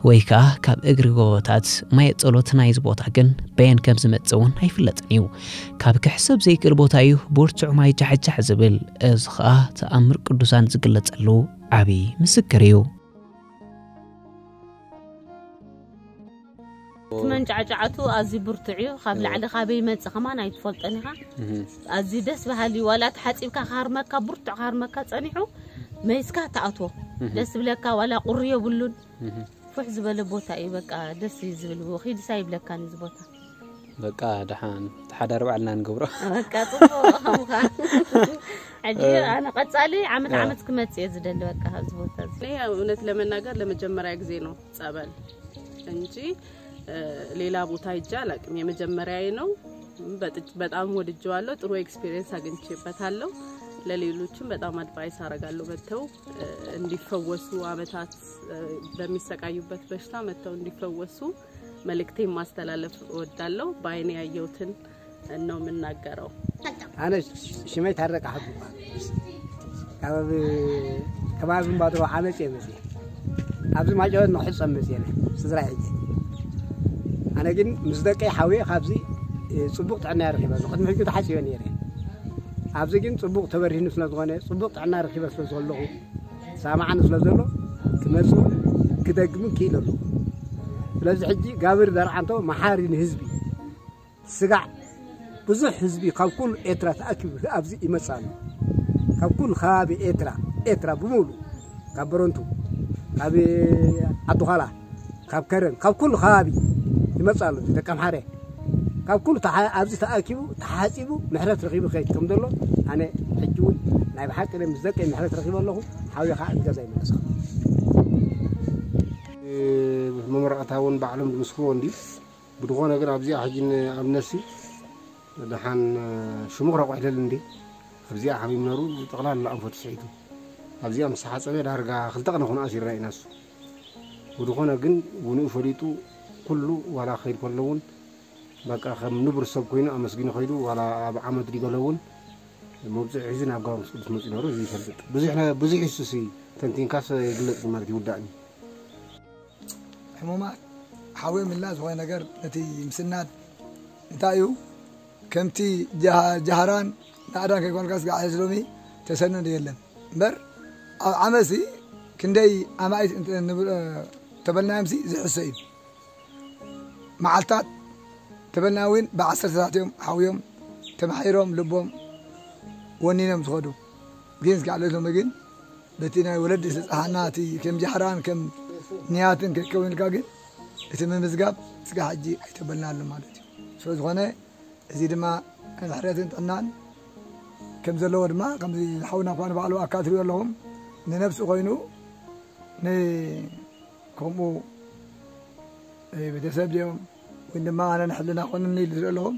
ወይ ከኣ ካብ እግሪ ጎቦታት። ማየ ጸሎት ናይዚ ቦታ ግን በየን ከም ዝመጽእ እውን ኣይፍለጥን እዩ። ካብ ክሕሰብ ዘይክእል ቦታ እዩ ብርቱዕ ማይ ጃሕጃሕ ዝብል። እዚ ኸኣ ተኣምር ቅዱሳን ዝግለጸሉ ዓቢ ምስክር እዩ። እቲ መንጫዕጫዕቱ ኣዝዩ ብርቱዕ እዩ። ካብ እዎ። ላዕሊ ካበይ ይመጽእ ከማን ኣይትፈልጦን ኢኻ። እህ። ኣዝዩ ደስ በሃሊ እዩ። ዋላ ተሓጺብካ ክሃርመካ፣ ብርቱዕ ክሃርመካ ጸኒሑ፣ መይስካ ትኣትዎ። እህ። ደስ ዝብለካ፣ ዋላ ቁሪ የብሉን። እህ። ፍሕ ዝበለ ቦታ እዩ። በቃ ደስ እዩ ዝብል። ኺድሳ ይብለካን እዚ ቦታ። በቃ ደሓን ተሓዳሪ ባዕልና ንገብሮ። በቃ ጽቡቕ ከምካ። ሕጂ ኣነ ቀጻሊ ዓመት ዓመት ክመጽእ እየ ዝደሊ በቃ ኣብዚ ቦታ እዚ። እኔ እውነት ለመናገር ለመጀመሪያ ጊዜ ነው ጸበል እንጂ ሌላ ቦታ ሄጄ አላውቅም። የመጀመሪያዬ ነው። በጣም ወድጄዋለሁ። ጥሩ ኤክስፒሪየንስ አግኝቼበታለሁ። ለሌሎችም በጣም አድቫይስ አረጋለሁ መጥተው እንዲፈወሱ፣ አመታት በሚሰቃዩበት በሽታ መጥተው እንዲፈወሱ መልእክቴን ማስተላለፍ እወዳለሁ። በአይኔ ያየሁትን ነው የምናገረው። ኣነ ሽመይ ታረቀ ሓቡ ይበሃል። ካብ ከባቢ እምባድሮ ዓመፅ እየ መፅየ። ኣብዚ ማጨወት ንክሕፀብ መፅየ ስድራ ሕጂ። ኣነ ግን ምስ ደቀይ ሓውየ ካብዚ ፅቡቕ ጥዕና ረኺበ። ቅድሚ ሕጂ ተሓፂበ ነይረ። ኣብዚ ግን ፅቡቕ ተበሪህኒ ስለ ዝኾነ፣ ፅቡቕ ጥዕና ረኺበ ስለ ዘለኹ፣ ሳማዓኒ ስለ ዘሎ ክመፅእ ክደግምን ክኢል ኣለኹ። ስለዚ ሕጂ ጋብር ደርዓንቶ መሓሪ ንህዝቢ ስጋዕ ብዙሕ ህዝቢ ካብ ኩሉ ኤርትራ ተኣኪቡ ኣብዚ ይመጽእ ኣሎ። ካብ ኩሉ ከባቢ ኤርትራ ኤርትራ ብምሉ ካብ በረንቱ፣ ካብ ዓዲ ዃላ፣ ካብ ከረን፣ ካብ ኩሉ ከባቢ ይመጽእ ኣሎ። ደቂ ኣምሓረ ካብ ኩሉ ተሓ- ኣብዚ ተኣኪቡ ተሓጺቡ ምሕረት ረኺቡ ከይድ ከም ዘሎ ኣነ ሕጂ እውን ናይ ብሓቂ ምስ ደቀይ ምሕረት ረኺበ ኣለኹ። ሓውየ ከዓ ገዛ ይመለስካ። መመረቕታ እውን ባዕሎም ዝምስክርዎ እንዲ ብድኾነ ግን ኣብዚኣ ሕጂ ኣብነሲ ደሓን ሽሙ ክረቑሕ ደል እንዲ ኣብዚኣ ሓሚም ነሩ ጠቕላላ ኣንፈቱ ስሒቱ ኣብዚኣ ምስ ሓፀበ ዳርጋ ክልተ ቅነ ኩን ኣሲርና ኢና እሱ ብድኾነ ግን ውንኡ ፈሊጡ ኩሉ ዋላ ክኸይድ ከሎ እውን በቃ ከም ንቡር ሰብ ኮይኑ ኣመስጊኑ ከይዱ ዋላ ኣብ ዓመት ዲገሎ እውን መብፅዕ ሒዙ ናብ ጋብርስ ቅዱስ መፅኡ ነሩ እዚ ይፈልጥ ብዙሕ ነ- ብዙሕ ይሱስ ተንቲንካስ ይግለፅ ማለት ይውዳእኒ ሕሙማት ሓውዮም ኢልና ዝኾነ ነገር ነቲ ምስናድ እንታይ እዩ ከምቲ ጃሃራን ናዕዳን ከይኮንካ ስጋዕ ሕዚ ሎሚ ተሰንዶ የለን እምበር ኣብ ዓመሲ ክንደይ ኣማኢት ተበልናዮምሲ ዝሕሰ እዩ መዓልታት ተበልና እውን ብዓሰርተታት እዮም ሓውዮም ተማሒሮም ልቦም ወኒኖም ዝኸዱ ግን እስካዕ ሎሚ ግን በቲ ናይ ወለዲ ዝተፀሃና እቲ ከም ጃሕራን ከም ንያትን ከይከውን ኢልካ ግን እቲ ምምዝጋብ እስካ ሕጂ ኣይተበልናሉ ማለት እዩ ስለ ዝኾነ እዚ ድማ ሕረትን ጥዕናን ከም ዘለዎ ድማ ከምዚ ሓውና እኳ ንባዕሉ ኣካ ትሪኦ ኣለኹም ንነብሲ ኮይኑ ከምኡ ቤተሰብ ድኦም ወይ ድማ ኣነ ንሕልና ኮንኒ ኢሉ ዝርኢ ኣለኹም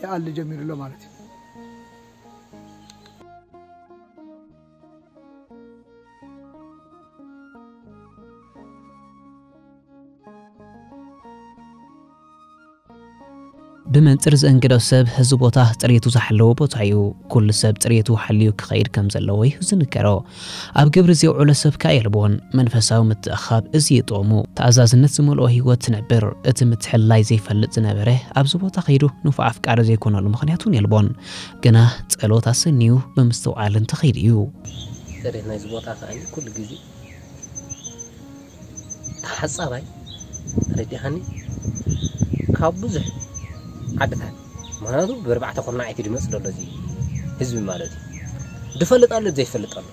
ይኣሊ ጀሚሩ ኣሎ ማለት እዩ ብመንፅር ዘእንግዶ ሰብ እዚ ቦታ ፅሬቱ ዝሓለወ ቦታ እዩ። ኩሉ ሰብ ፅሬቱ ሓልዩ ክኸይድ ከም ዘለዎ እዩ ዝንገሮ። ኣብ ግብሪ ዘውዕሎ ሰብ ከኣ የልቦን። መንፈሳዊ ምትእኻብ እዚ እዩ ጥቕሙ። ተኣዛዝነት ዝመልኦ ህይወት ትነብር። እቲ ምትሕልላይ ዘይፈልጥ ዝነበረ ኣብዚ ቦታ ከይዱ ንፉዕ ኣፍቃሪ ዘይኮነሉ ምኽንያት እውን የልቦን። ግና ጸሎት ኣሰንዩ ብምስትውዓል እንተኸይዱ እዩ። ፅሬት ናይዚ ቦታ ከኣ ኩሉ ግዜ ተሓጻባይ ተረዲኻኒ ካብ ብዙሕ ዓድታት ምክንያቱ ብርባዕተ ኩርናዕ እቲ ድመፅ ዘሎ እዚ ህዝቢ ማለት እዩ ዝፈልጥ ኣሎ ዘይፈልጥ ኣሎ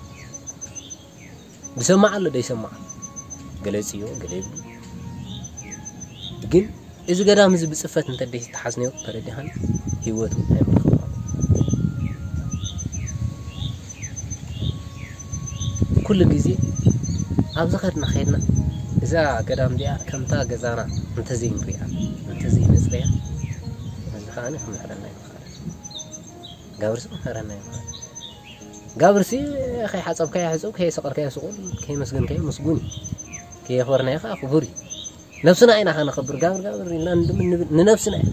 ዝሰማዕ ኣሎ ዘይሰማዕ ገለ ይፅዮ ገለ ይብሉ ግን እዚ ገዳም እዚ ብፅፈት እንተ ዘይተሓዝነዮ ተረዲኻኒ ህይወቱ ኣይምረኸቦ ኩሉ ግዜ ኣብዚ ከድና ከድና እዛ ገዳም እዚኣ ከምታ ገዛና እንተዘይንሪኣ እንተዘይነፅርያ እዚ ከዓ ክምሕረና ይምሓረ ጋብርሲ ክምሕረና ይምሓረ ጋብርሲ ከይሓፀብካዮ ሕፀብ ከየሰቐልካዮ ስቑል ከየመስገንካዮ ምስጉን ከየኽበርናዮ ከዓ ክቡር እዩ ነብስና ኢና ከነኸብር ጋብር ጋብር ኢልና ንድምን ንብል ንነብስና እዩ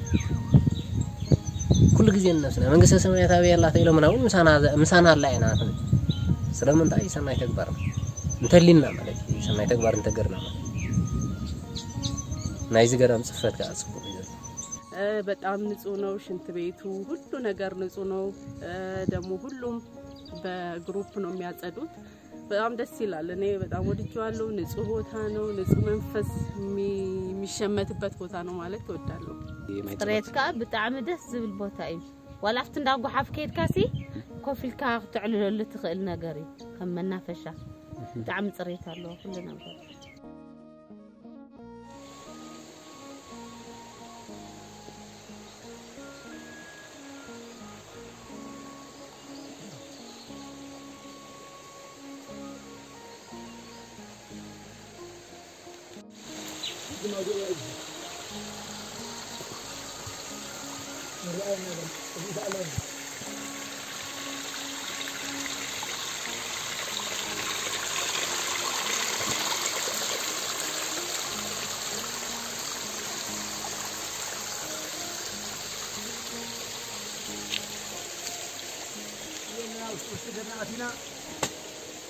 ኩሉ ግዜ ንነብስና መንግስተ ሰማያት ኣበይ ኣላ ተኢሎምና እውን ምሳና ምሳና ኣላ ኢና ክንብል ስለምንታይ ሰናይ ተግባርና እንተሊና ማለት እዩ ሰናይ ተግባር እንተገርና ማለት ናይዚ ገዳም ፅፈት ከዓ ፅቡቅ እዩ በጣም ንጹህ ነው ሽንት ቤቱ፣ ሁሉ ነገር ንጹህ ነው። ደግሞ ሁሉም በግሩፕ ነው የሚያጸዱት። በጣም ደስ ይላል። እኔ በጣም ወድጄዋለሁ። ንጹህ ቦታ ነው፣ ንጹህ መንፈስ የሚ- የሚሸመትበት ቦታ ነው ማለት እወዳለሁ። ጽሬት ከዓ ብጣዕሚ ደስ ዝብል ቦታ እዩ። ዋላ ኣብቲ እንዳ ጓሓፍ ከይድካ ሲ ኮፍ ኢልካ ክተዕልለሉ ትኽእል ነገር እዩ። ከም መናፈሻ ብጣዕሚ ጽሬት ኣለዎ ኩሉ ነገር።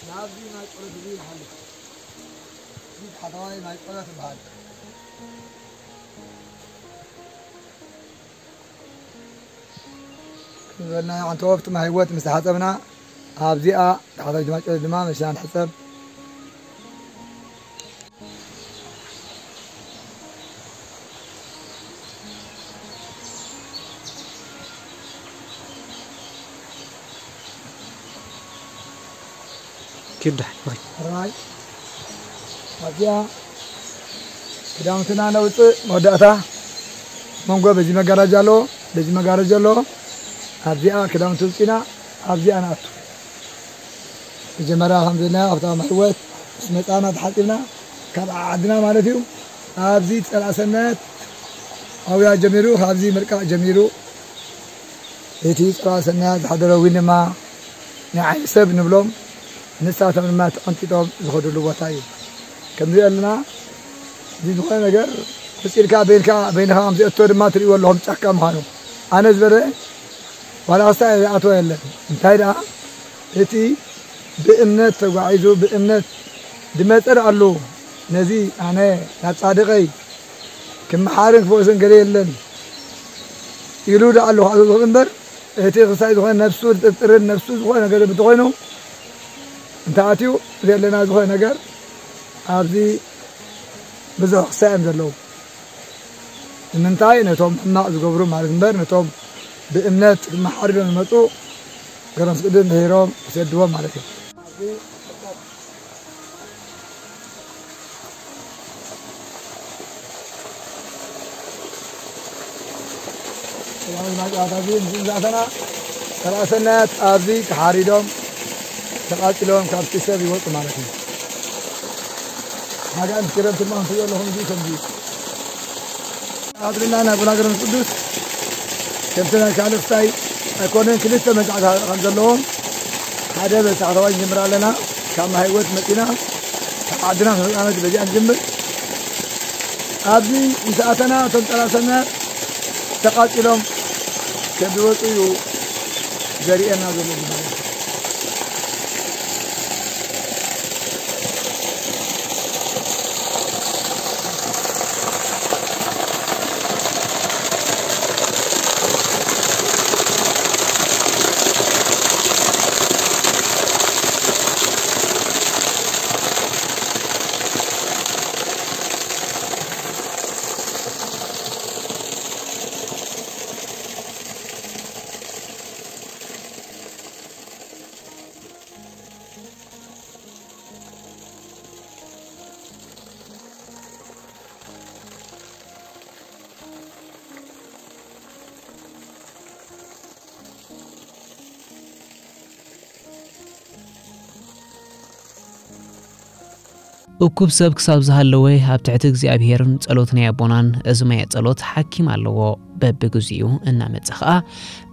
ናብዚ ናይ ጸሎት ግዜ ይሓልፍ። እዚ ታሕተዋይ ናይ ጸሎት ይበሃል። ክንበልና ሓንቲ ወፍቲ ማይ ህይወት ምስ ተሓጸብና ኣብዚኣ ታሕተዋይ ድማ ጸሎት ድማ መሲና ንሕጸብ። ኪዳ ራይ ኣብዚኣ ክዳውንትና ነውፅእ። መወዳእታ መንጎ በዚ መጋረጃ ኣለዎ፣ በዚ መጋረጃ ኣለዎ። ኣብዚኣ ክዳውንቲ ውፅኢና ኣብዚኣ ንኣቱ። መጀመርያ ከም ዝብልና ኣብታ መሕወት ምስ መፃና ተሓፂብና ካብ ዓድና ማለት እዩ። ኣብዚ ፀላእሰነት ኣውያ ጀሚሩ፣ ካብዚ ምርቃቕ ጀሚሩ እቲ ፀላእሰናያት ዝሓደረ እውን ድማ ናይ ዓይኒ ሰብ ንብሎም ንሳቶም ድማ ተቐንጢጦም ዝኸዱሉ ቦታ እዩ። ከምዚ ኣለና እዚ ዝኾነ ነገር ሕፂልካ በይንካ በይንካ ከም ዝእቶ ድማ ትርእይዎ ኣለኹም ጫካ ምዃኑ። ኣነ ዝበለ ዋላ ክሳዕ ዝኣትወ የለን። እንታይ ደኣ እቲ ብእምነት ተጓዒዙ ብእምነት ድመፀ ደኣ ኣለዉ። ነዚ ኣነ ናብ ጻድቐይ ክመሓርን ክፈውስን ገለ የለን ኢሉ ደኣ ኣለኹ ኣቶ ዝኽእል እምበር እቲ ክሳይ ዝኾነ ነብሱ ዝጥርጥርን ነብሱ ዝኾነ ነገር እንተኾይኑ እንተኣትዩ ዘለና ዝኾነ ነገር ኣብዚ ብዙሕ ክሳይ እዮም ዘለዉ። ንምንታይ ነቶም ሕማቕ ዝገብሩ ማለት እምበር ነቶም ብእምነት ክመሓሩ ኢሎም ዝመፁ ገረምስ ቅዱስ ምሒሮም ይሰድዎም ማለት እዩ። ሰላም ናጫታ ግን ዝዛተና ሰላሰናያት ኣብዚ ተሓሪዶም ተቃፂሎም ካብቲ ሰብ ይወፁ ማለት እዩ። ናጋን ክረምቲ ድማ እንትሪኦ ኣለኹም እዚ ከምዚ ኣድርና ናብ ላግረን ቅዱስ ከምቲ ናይ ካልእ ክስታይ ኣይኮነን። ክልተ መግዛዕቲ ከም ዘለዎም ሓደ በታሕተዋይ ንጅምር ኣለና። ካብ ማይ ህይወት መፂና ካብ ዓድና ተመፃመት በዚኣ ንጅምር። ኣብዚ ምስ ኣተና እቶም ጠላሰና ተቃፂሎም ከም ዝወፁ እዩ ዘርእየና ዘሎ ማለት እዩ። እኩብ ሰብ ክሳብ ዝሃለወ ኣብ ትሕቲ እግዚኣብሄርን ጸሎት ናይ ኣቦናን እዚ ማየ ጸሎት ሓኪም ኣለዎ። በብግዚኡ እናመጸ ኸኣ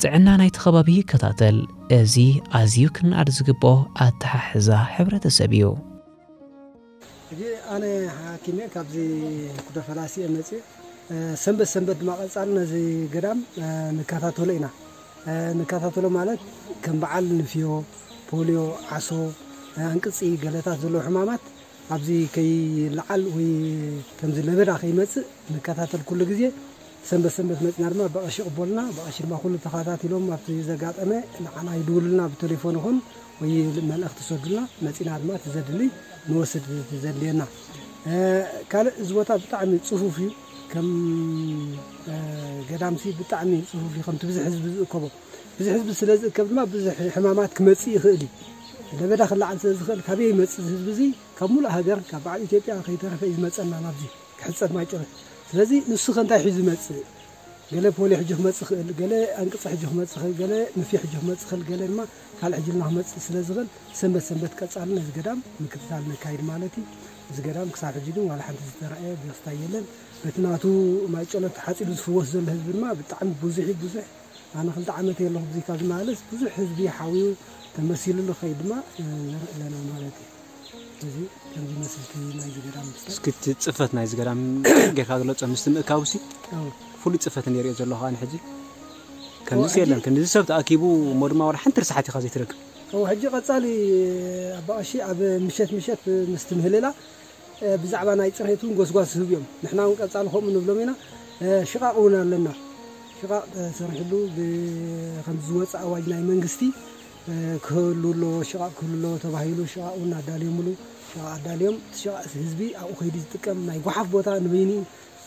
ጥዕና ናይቲ ከባቢ ይከታተል። እዚ ኣዝዩ ክንኣድ ዝግብኦ ኣተሓሕዛ ሕብረተሰብ እዩ። ሕጂ ኣነ ሓኪም እየ፣ ካብዚ ኩደ ፈላሲ እየ መፅእ። ሰንበት ሰንበት ድማ ቀፃሊ ነዚ ገዳም ንከታተሎ ኢና። ንከታተሎ ማለት ከም በዓል ንፍዮ፣ ፖልዮ፣ ዓሶ፣ ኣንቅፂ፣ ገለታት ዘለዎ ሕማማት ኣብዚ ከይለዓል ወይ ከምዚ ለበዳ ከይመፅእ ንከታተል ኩሉ ግዜ። ሰንበት ሰንበት መፅና ድማ ብቐሺ ይቕበሉና። ብቐሺ ድማ ኩሉ ተኸታቲሎም ኣብቲ ዘጋጠመ ንዓና ይድውሉልና፣ ብቴሌፎን ይኹን ወይ መልእኽቲ ይሰዱልና። መፂና ድማ እቲ ዘድሊ ንወስድ፣ እቲ ዘድልየና። ካልእ እዚ ቦታ ብጣዕሚ ፅፉፍ እዩ። ከም ገዳምሲ ብጣዕሚ ፅፉፍ እዩ፣ ከምቲ ብዝሕ ህዝቢ ዝእከቦ። ብዝሕ ህዝቢ ስለ ዝእከብ ድማ ብዙሕ ሕማማት ክመፅእ ይኽእል እዩ። ለበዳ ክለዓል ስለ ዝኽእል ካበይ ይመፅእ ህዝቢ እዚ? ካብ ሙሉእ ሃገር፣ ካብ በዓል ኢትዮጵያ ከይተረፈ እዩ ዝመፀና ናብዚ ክሕፀብ ማይጨረ። ስለዚ ንሱ ከ እንታይ ሒዙ ይመፅእ? ገለ ፖሊ ሕጂ ክመጽእ ይኽእል፣ ገለ ኣንቅጺ ሕጂ ክመጽእ ይኽእል፣ ገለ ምፊ ሕጂ ክመጽእ ይኽእል፣ ገለ ድማ ካልእ ሕጂ ልና ክመጽእ ስለ ዝኽእል፣ ሰንበት ሰንበት ቀጻሊ ነዚ ገዳም ምክትታል ነካይድ ማለት እዩ። እዚ ገዳም ክሳብ ሕጂ ግን ዋላ ሓንቲ ዝተረኣየ ደስታ የለን። በቲ ናቱ ማይ ጸሎት ተሓጺቡ ዝፍወስ ዘሎ ህዝቢ ድማ ብጣዕሚ ብዙሕ እዩ፣ ብዙሕ። ኣነ ክልተ ዓመት የለኹ ብዙይ ካብ ዝመላለስ፣ ብዙሕ ህዝቢ ሓዊሩ ተመሲሉሉ ኸይድ ድማ ንርኢ ኣለና ማለት እዩ። እዚ ከም ዝመስል እቲ ናይዚ ገዳም ምስላ። እስኪ እቲ ጽፈት ናይዚ ገዳም ጌርካ ግለጾ፣ ምስቲ ምእካቡሲ ኣዎ። ፍሉይ ጽፈት እንሪኦ ዘለኹ ኣነ ሕጂ። ከምዚ ኣዎ፣ ሕጂ የለን፣ ከምዚ ሰብ ተኣኪቡ እሞ ድማ ዋላ ሓንቲ ርሳሓት ኢኻ ዘይትረክብ። ኣዎ፣ ሕጂ ቀጻሊ ኣባ ቀሺ ኣብ ምሸት ምሸት ምስቲ ምህልላ፣ እ፣ ብዛዕባ ናይ ጽሬት እውን ጎስጓስ ዝህቡ እዮም። ንሕና እውን ቀጻሊ ከምኡ ንብሎም ኢና። እ፣ ሽቓቕ እውን ኣለና። ሽቓቕ ተሰሪሕሉ ብ-፣ ከም ዝወጽእ ኣዋጅ ናይ መንግስቲ፣ እ፣ ክህሉ ኣለዎ፣ ሽቓቕ ክህሉ ኣለዎ ተባሂሉ ሽቓቕ እውን ኣዳልዮምሉ። ሽቓቕ ኣዳልዮም፣ እቲ ሽቓቕ ህዝቢ ኣብኡ ከይዱ ዝጥቀም ናይ ጓሓፍ ቦታ ንበይኑ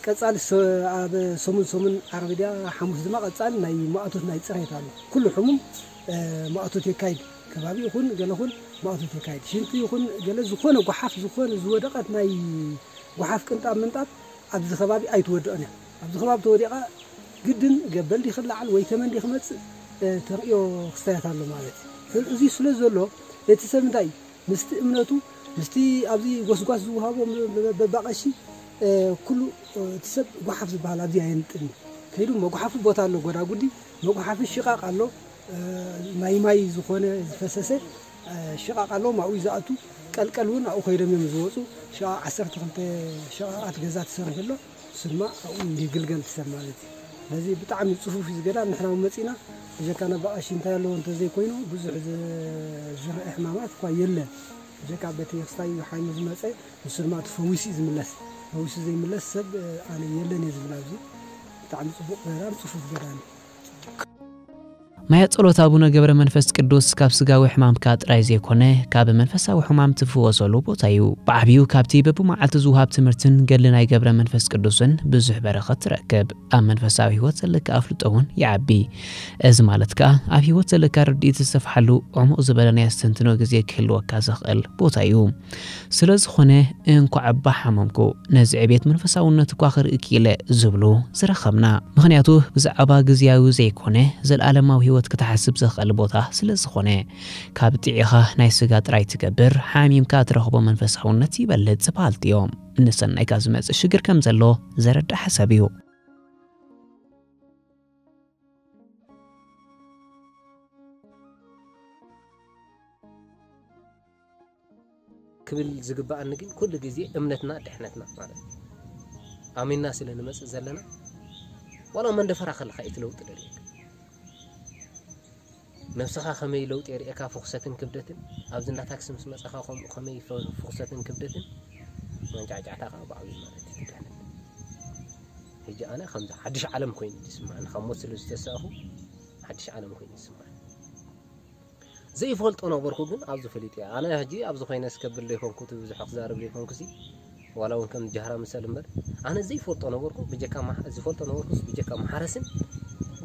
ቀጻሊ ሰ-፣ ኣብ ሰሙን ሰሙን ዓርቢ ድያ ሓሙስ ድማ ቀጻሊ ናይ ማእቶት ናይ ጽሬት ኣሎ። ኩሉ ሕሙም፣ እ፣ ማእቶት የካይድ። ከባቢ ይኹን ገለ ኹን ማእቶት የካይድ። ሽንቲ ይኹን ገለ ዝኾነ ጓሓፍ፣ ዝኾነ ዝወደቐት ናይ ጓሓፍ ቅንጣብ ምንጣብ ኣብዚ ከባቢ ኣይትወድቕን እያ። ኣብዚ ከባቢ ተወዲቓ ግድን ገበል ድዩ ክለዓል ወይ ተመን ድዩ ክመጽእ፣ እ፣ ተርእዮ ክስተያት ኣሎ ማለት እዩ። እዚ ስለ ዘሎ እቲ ሰብ እንታይ ምስቲ እምነቱ፣ ምስቲ ኣብዚ ጎስጓስ ዝወሃቦ ም-፣ ም-፣ በባቐሺ፣ እ፣ ኩሉ፣ እ፣ እቲ ሰብ ጓሓፍ ዝበሃል ኣብዚ ኣየንጥን እዩ። ከይዱ መጉሓፊ ቦታ ኣሎ፣ ጎዳጉዲ መጉሓፊ ሽቓቕ ኣሎ፣ እ፣ ናይ ማይ ዝኾነ ዝፈሰሰ፣ እ፣ ሽቓቕ ኣሎ፣ ማኡ እዩ ዝኣቱ። ቀልቀል እውን ኣብኡ ከይዶም እዮም ዝወፁ። ሽቓቕ ዓሰርተ ክልተ ሽቓቓት ገዛ ተሰሪሑ ኣሎ። እሱ ድማ ኣብኡ ይግልገል እቲ ሰብ ማለት እዩ። ስለዚ ብጣዕሚ ጽፉፍ እዩ ዝገዳም። ንሕና እውን መጺእና ብጀካ ነባ ቀሺ እንታይ ኣለዎ እንተዘይኮይኑ ብዙሕ ዝ-፣ ዝረአ ሕማማት እኳ የለን። ብጀካ በቲ ክስታይ ሓይሙ ዝመጸ ንሱ ድማ እቲ ፈዊሱ እዩ ዝምለስ። ፈዊሱ ዘይምለስ ሰብ፣ እ፣ ኣነ የለን እየ ዝብል ኣብዚ። ብጣዕሚ ጽቡቕ ገዳም፣ ጽፉፍ ገዳም እዩ። ማያ ጸሎት ኣቡነ ገብረ መንፈስ ቅዱስ ካብ ስጋዊ ሕማምካ ጥራይ ዘይኮነ፣ ካብ መንፈሳዊ ሕማም ትፍወሰሉ ቦታ እዩ። ብዓብዩ ካብቲ በብመዓልቲ ዝውሃብ ትምህርትን ገድሊ ናይ ገብረ መንፈስ ቅዱስን ብዙሕ በረኸት ትረክብ። ኣብ መንፈሳዊ ህይወት ዘለካ ኣፍልጦ እውን ይዓቢ። እዚ ማለት ከኣ ኣብ ህይወት ዘለካ ርድኢት ዝሰፍሓሉ ዕሙቕ ዝበለ ናይ ኣስተንትኖ ግዜ ክህልወካ ዘኽእል ቦታ እዩ። ስለ ዝኾነ እንኳዕ እባ ሓመምኩ፣ ነዚ ዕቤት መንፈሳውነት እኳ ክርኢ ክኢለ ዝብሉ ዝረኸብና። ምኽንያቱ ብዛዕባ ግዝያዊ ዘይኮነ፣ ዘለኣለማዊ ህይወት ክትሓስብ ዘኽእል ቦታ ስለ ዝኾነ። ካብ ጥዒኻ ናይ ስጋ ጥራይ ትገብር፣ ሓሚምካ ትረኽቦ መንፈሳውነት ይበልጽ በሃልቲ እዮም። ንሰናይካ ዝመጽእ ሽግር ከም ዘሎ ዘረድእ ሓሳብ እዩ። ክብል ዝግበኣኒ ግን ኩሉ ግዜ እምነትና ድሕነትና ማለት እዩ። ኣሚንና ስለ ንመጽእ ዘለና፣ ዋላ መንደፈራ ከለኻ እዩ እቲ ለውጢ ደርእየካ። ነብስኻ ከመይ ለውጢ የርእየካ፣ ፍኹሰትን ክብደትን። ኣብዚ እንዳ ታክሲ ምስ መጻኻ ከምኡ ከመይ ፈ-፣ ፍኹሰትን ክብደትን፣ መንጫዕጫዕታ ከኣ ብዓብዩ ማለት እዩ ድሕነት። ሕጂ ኣነ ከምዚ ሓድሽ ዓለም ኮይኑ እዩ ዝስምዓኒ፣ ካብ ሞት ስለ ዝተሳእኹ ሓድሽ ዓለም ኮይኑ እዩ ዝስምዓኒ። ዘይፈልጦ ነበርኩ ግን ኣብዚ ፈሊጠ። ኣነ ሕጂ ኣብዚ ኮይነ ስከብል ዘይኮንኩ፣ እቲ ብዙሕ ክዛረብ ዘይኮንኩሲ፣ ዋላ እውን ከም ጃህራ ምሰል እምበር፣ ኣነ ዘይፈልጦ ነበርኩ፣ ብጀካ ማሕ-፣ ዝፈልጦ ነበርኩስ ብጀካ ማሕረስን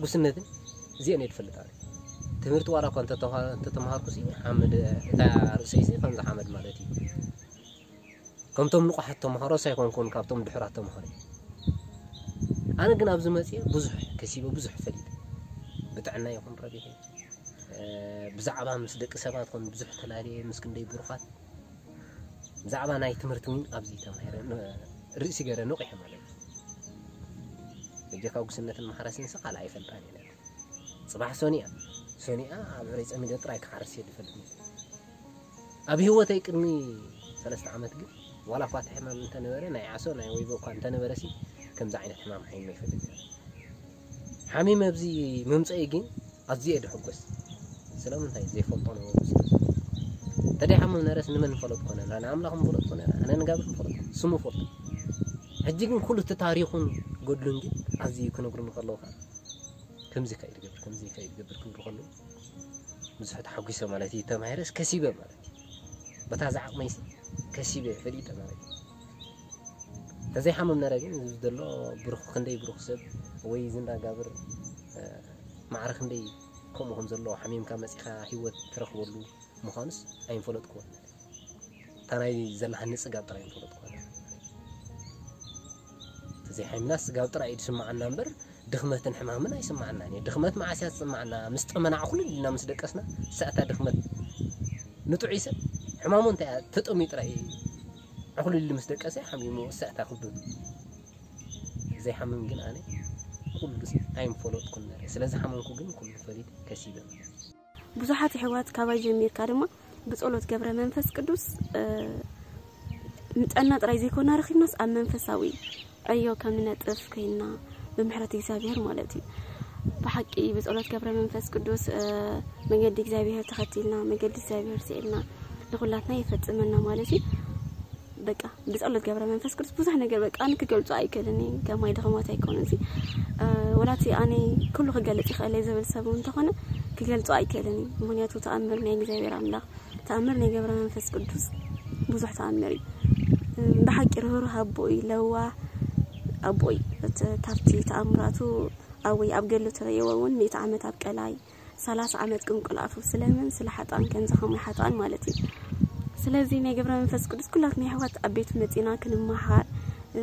ጉስነትን እዚአን እየ ዝፈልጥ ኣነ። ትምህርቲ ዋላ እኳ እንተተማ-፣ እንተተማሃርኩሲ፣ ሓመድ፣ እታ ርእሰይሲ ከምዚ ሓመድ ማለት እዩ። ከምቶም ንቑሓት ተምሃሮስ ኣይኮንኩን፣ ካብቶም ድሑራት ተምሃሮ እየ። ኣነ ግን ኣብዚ መፅየ ብዙሕ ከሲበ፣ ብዙሕ ፈሊጠ። ብጥዕና ይኹን ረቢሐ፣ እ፣ ብዛዕባ ምስ ደቂ ሰባት ኮን ብዙሕ ተላልየ፣ ምስ ክንደይ ብሩኻት። ብዛዕባ ናይ ትምህርቲ እውን ኣብዚ ተማሂረ፣ ን-፣ ርእሲ ገይረ ነቒሐ ማለት እዩ። በጀካ ጉስነትን ማሕረስንስ ካልእ ኣይፈልጣን እየ። ጽባሕ ሶኒኣ፣ ሶኒኣ ኣብ ዕረይ ጸሚደ ጥራይ ክሓርስ እየ ዝፈልጥ ነይረ። ኣብ ህይወተይ ቅድሚ ሰለስተ ዓመት ግን፣ ዋላ እኳ እቲ ሕማም እንተነበረ፣ ናይ ዓሶ፣ ናይ ወይቦ እኳ እንተነበረሲ፣ ከምዚ ዓይነት ሕማም ሓሚመ ኣይፈልጥ ነይረ። ሓሚመ ኣብዚ ምምጸይ ግን ኣዝየ እየ ድሕጎስ። ስለምንታይ? ዘይፈልጦ ነበርኩ ስለ ዘሎ። እንተደይ ሓሚም ነረስ ንመን ንፈለጥኮ ነና? ንኣምላኽ ንፈለጥኮ ነና? ኣነ ንጋብር ንፈለጥ፣ ስሙ ፈልጦ። ሕጂ ግን ኩሉ እቲ ታሪኹን ገድሉን ግን ኣዝዩ ክነግሩኒ ከለዉ ከኣ፣ ከምዚ ከ ይትገብር፣ ከምዚ ከ ይትገብር ክብሉ ከለዉ፣ ብዙሕ ተሓጒሰ ማለት እዩ። ተማሂረስ ከሲበ ማለት እዩ። በታ ዝዓቕመይሲ ከሲበ ፈሊጠ ማለት እዩ። ተዘይሓምም ነረ ግን፣ እዚ ዘሎ ብሩኽ፣ ክንደይ ብሩኽ ሰብ ወይ እዚ እንዳጋብር፣ እ፣ ማዕረ ክንደይ ከምኡ ከም ዘለዎ ሓሚምካ መጺኻ ህይወት ትረኽበሉ ምዃኑስ ኣይንፈለጥኩዎን። እታ ናይ ዘለሃኒ ጽጋብ ጥራይ ንፈለጥኩዋ። ተዘይሓሚምናስ ጽጋብ ጥራይ እዩ ዝስምዓና እምበር፣ ድኽመትን ሕማምን ኣይስምዓናን እዩ። ድኽመት መዓስ እያ ትስምዓና? ምስ ጠመና ዕኹልል ኢልና ምስ ደቀስና፣ እሳ እታ ድኽመት። ንጥዑይ ሰብ ሕማሙ እንታይ እያ? ተጠምዩ ጥራይ እዩ። ዕኹልል ምስ ደቀሰ ሓሚሙ፣ እሳ እታ ክብደቱ። ዘይሓምም ግን ኣነ ኩሉ ኣይምፈለጥኩን ነረ። ስለ ዝሓመምኩ ግን ኩሉ ፈሊጥ ከሲበ። ብዙሓት ኣሕዋት ካባይ ጀሚርካ ድማ ብጸሎት ገብረ መንፈስ ቅዱስ፣ እ፣ ንጠና ጥራይ ዘይኮና ረኺብናስ ኣብ መንፈሳዊ ዕዮ ከም ንነጥፍ ኮይና ብምሕረት እግዚኣብሔር ማለት እዩ። ብሓቂ ብጸሎት ገብረ መንፈስ ቅዱስ፣ እ፣ መገዲ እግዚኣብሔር ተኸቲልና፣ መገዲ እግዚኣብሔር ስዒልና ንኹላትና ይፈጽመና ማለት እዩ። በቃ ብጸሎት ገብረ መንፈስ ቅዱስ ብዙሕ ነገር በቃ ኣነ ክገልጾ ኣይክእልን እየ። ከማይ ድኽመት ኣይኮነን እዚ። እ፣ ወላ እቲ ኣነ ኩሉ ክገልጽ ይኽእል እየ ዝብል ሰብ እውን እንተኾነ ክገልጾ ኣይክእልን እየ። ምኽንያቱ ተኣምር ናይ እግዚኣብሔር ኣምላኽ፣ ተኣምር ናይ ገብረ መንፈስ ቅዱስ ብዙሕ ተኣምር እዩ። እ፣ ብሓቂ ርህሩህ ኣቦ እዩ፣ ለዋህ ኣቦ እዩ። እቲ ካብቲ ተኣምራቱ ኣብ ወይ ኣብ ገድሉ ትርእይዎ እውን ሚእቲ ዓመት ኣብ ቀላይ፣ ሰላሳ ዓመት ቅንቁል ኣፉ ስለምን ስለ ሓጥኣን ከምዚ ከማይ ሓጥኣን ማለት እዩ። ስለዚ ናይ ገብረ መንፈስ ቅዱስ ኩላትና ኣሕዋት ኣብ ቤቱ መጺና ክንመሃር፣ እ፣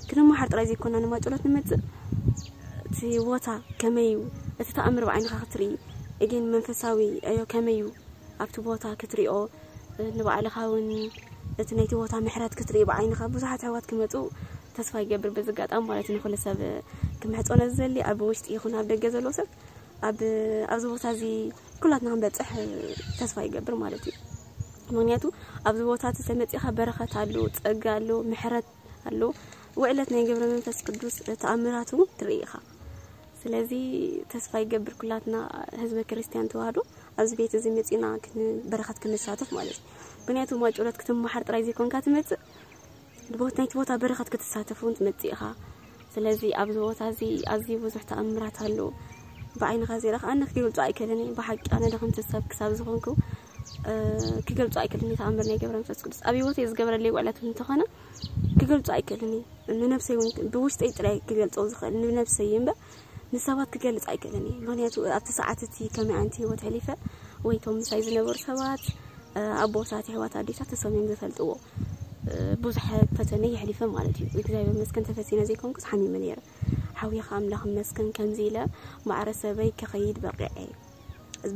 ክንመሃር ጥራይ ዘይኮና ንማጨሎት ንመጽእ እቲ ቦታ ከመይ እዩ፣ እቲ ተኣምር ብዓይንኻ ክትርኢ፣ እግን መንፈሳዊ ዕዮ ከመይ እዩ ኣብቲ ቦታ ክትሪኦ፣ እ፣ ንባዕልኻ እውን እቲ ናይቲ ቦታ ምሕረት ክትርኢ ብዓይንኻ ብዙሓት ኣሕዋት ክመጹ ተስፋ ይገብር። በዚ ኣጋጣሚ ማለት ንኹሉ ሰብ ክምሕጾ ነዚ ዘሊ ኣብ ውሽጢ ይኹን ኣብ ደገ ዘሎ ሰብ ኣብ፣ ኣብዚ ቦታ እዚ ኩላትና ክንበጽሕ ተስፋ ይገብር ማለት እዩ። ምኽንያቱ ኣብዚ ቦታ እቲ ተመጺኻ በረኸት ኣሎ፣ ጸጋ ኣሎ፣ ምሕረት ኣሎ፣ ውዕለት ናይ ገብረ መንፈስ ቅዱስ ተኣምራት እውን ትርኢ ኢኻ። ስለዚ ተስፋ ይገብር ኩላትና ህዝበ ክርስቲያን ተዋህዶ ኣብዚ ቤት እዚ መጺና ክን-፣ በረኸት ክንሳተፍ ማለት እዩ። ምኽንያቱ ማጨሎት ክትመሓር ጥራይ ዘይኮንካ ትመጽእ፣ ብቦት-፣ ናይቲ ቦታ በረኸት ክትሳተፍ እውን ትመጽእ ኢኻ። ስለዚ ኣብዚ ቦታ እዚ ኣዝዩ ብዙሕ ተኣምራት ኣሎ። ብዓይንኻ ዘይረኸ-፣ ኣነ ክገልጾ ኣይክእልን እየ። ብሓቂ ኣነ ደኸምቲ ሰብ ክሳብ ዝኾንኩ፣ እ፣ ክገልጾ ኣይክእልን እየ ተኣምር ናይ ገብረ መንፈስ ቅዱስ። ኣብ ህይወተይ ዝገበረለይ ውዕለት እውን እንተኾነ ክገልጾ ኣይክእልን እየ። ንነብሰይ እውን ብውሽጠይ ጥራይ ክገልጾ ዝኽእል ንነብሰይ እየ እምበር ንሰባት ክገልጽ ኣይክእልን እየ። ምኽንያቱ ኣብቲ ሰዓት እቲ ከመይ ኣንቲ ህይወት ሕሊፈ ወይ እቶም ምሳይ ዝነበሩ ሰባት፣ እ፣ ኣቦታት፣ ኣሕዋት፣ ኣዴታት እሶም እዮም ዝፈልጥዎ። እ፣ ብዙሕ ፈተነ የሕሊፈ ማለት እዩ። እግዚኣብሔር ይመስገን ተፈቲነ ዘይኮንኩስ ሓሚመ ነይረ። ሓውየኻ ኣምላኽ ይመስገን ከምዚ ኢለ ማዕረ ሰበይ ክኸይድ በቂዐ።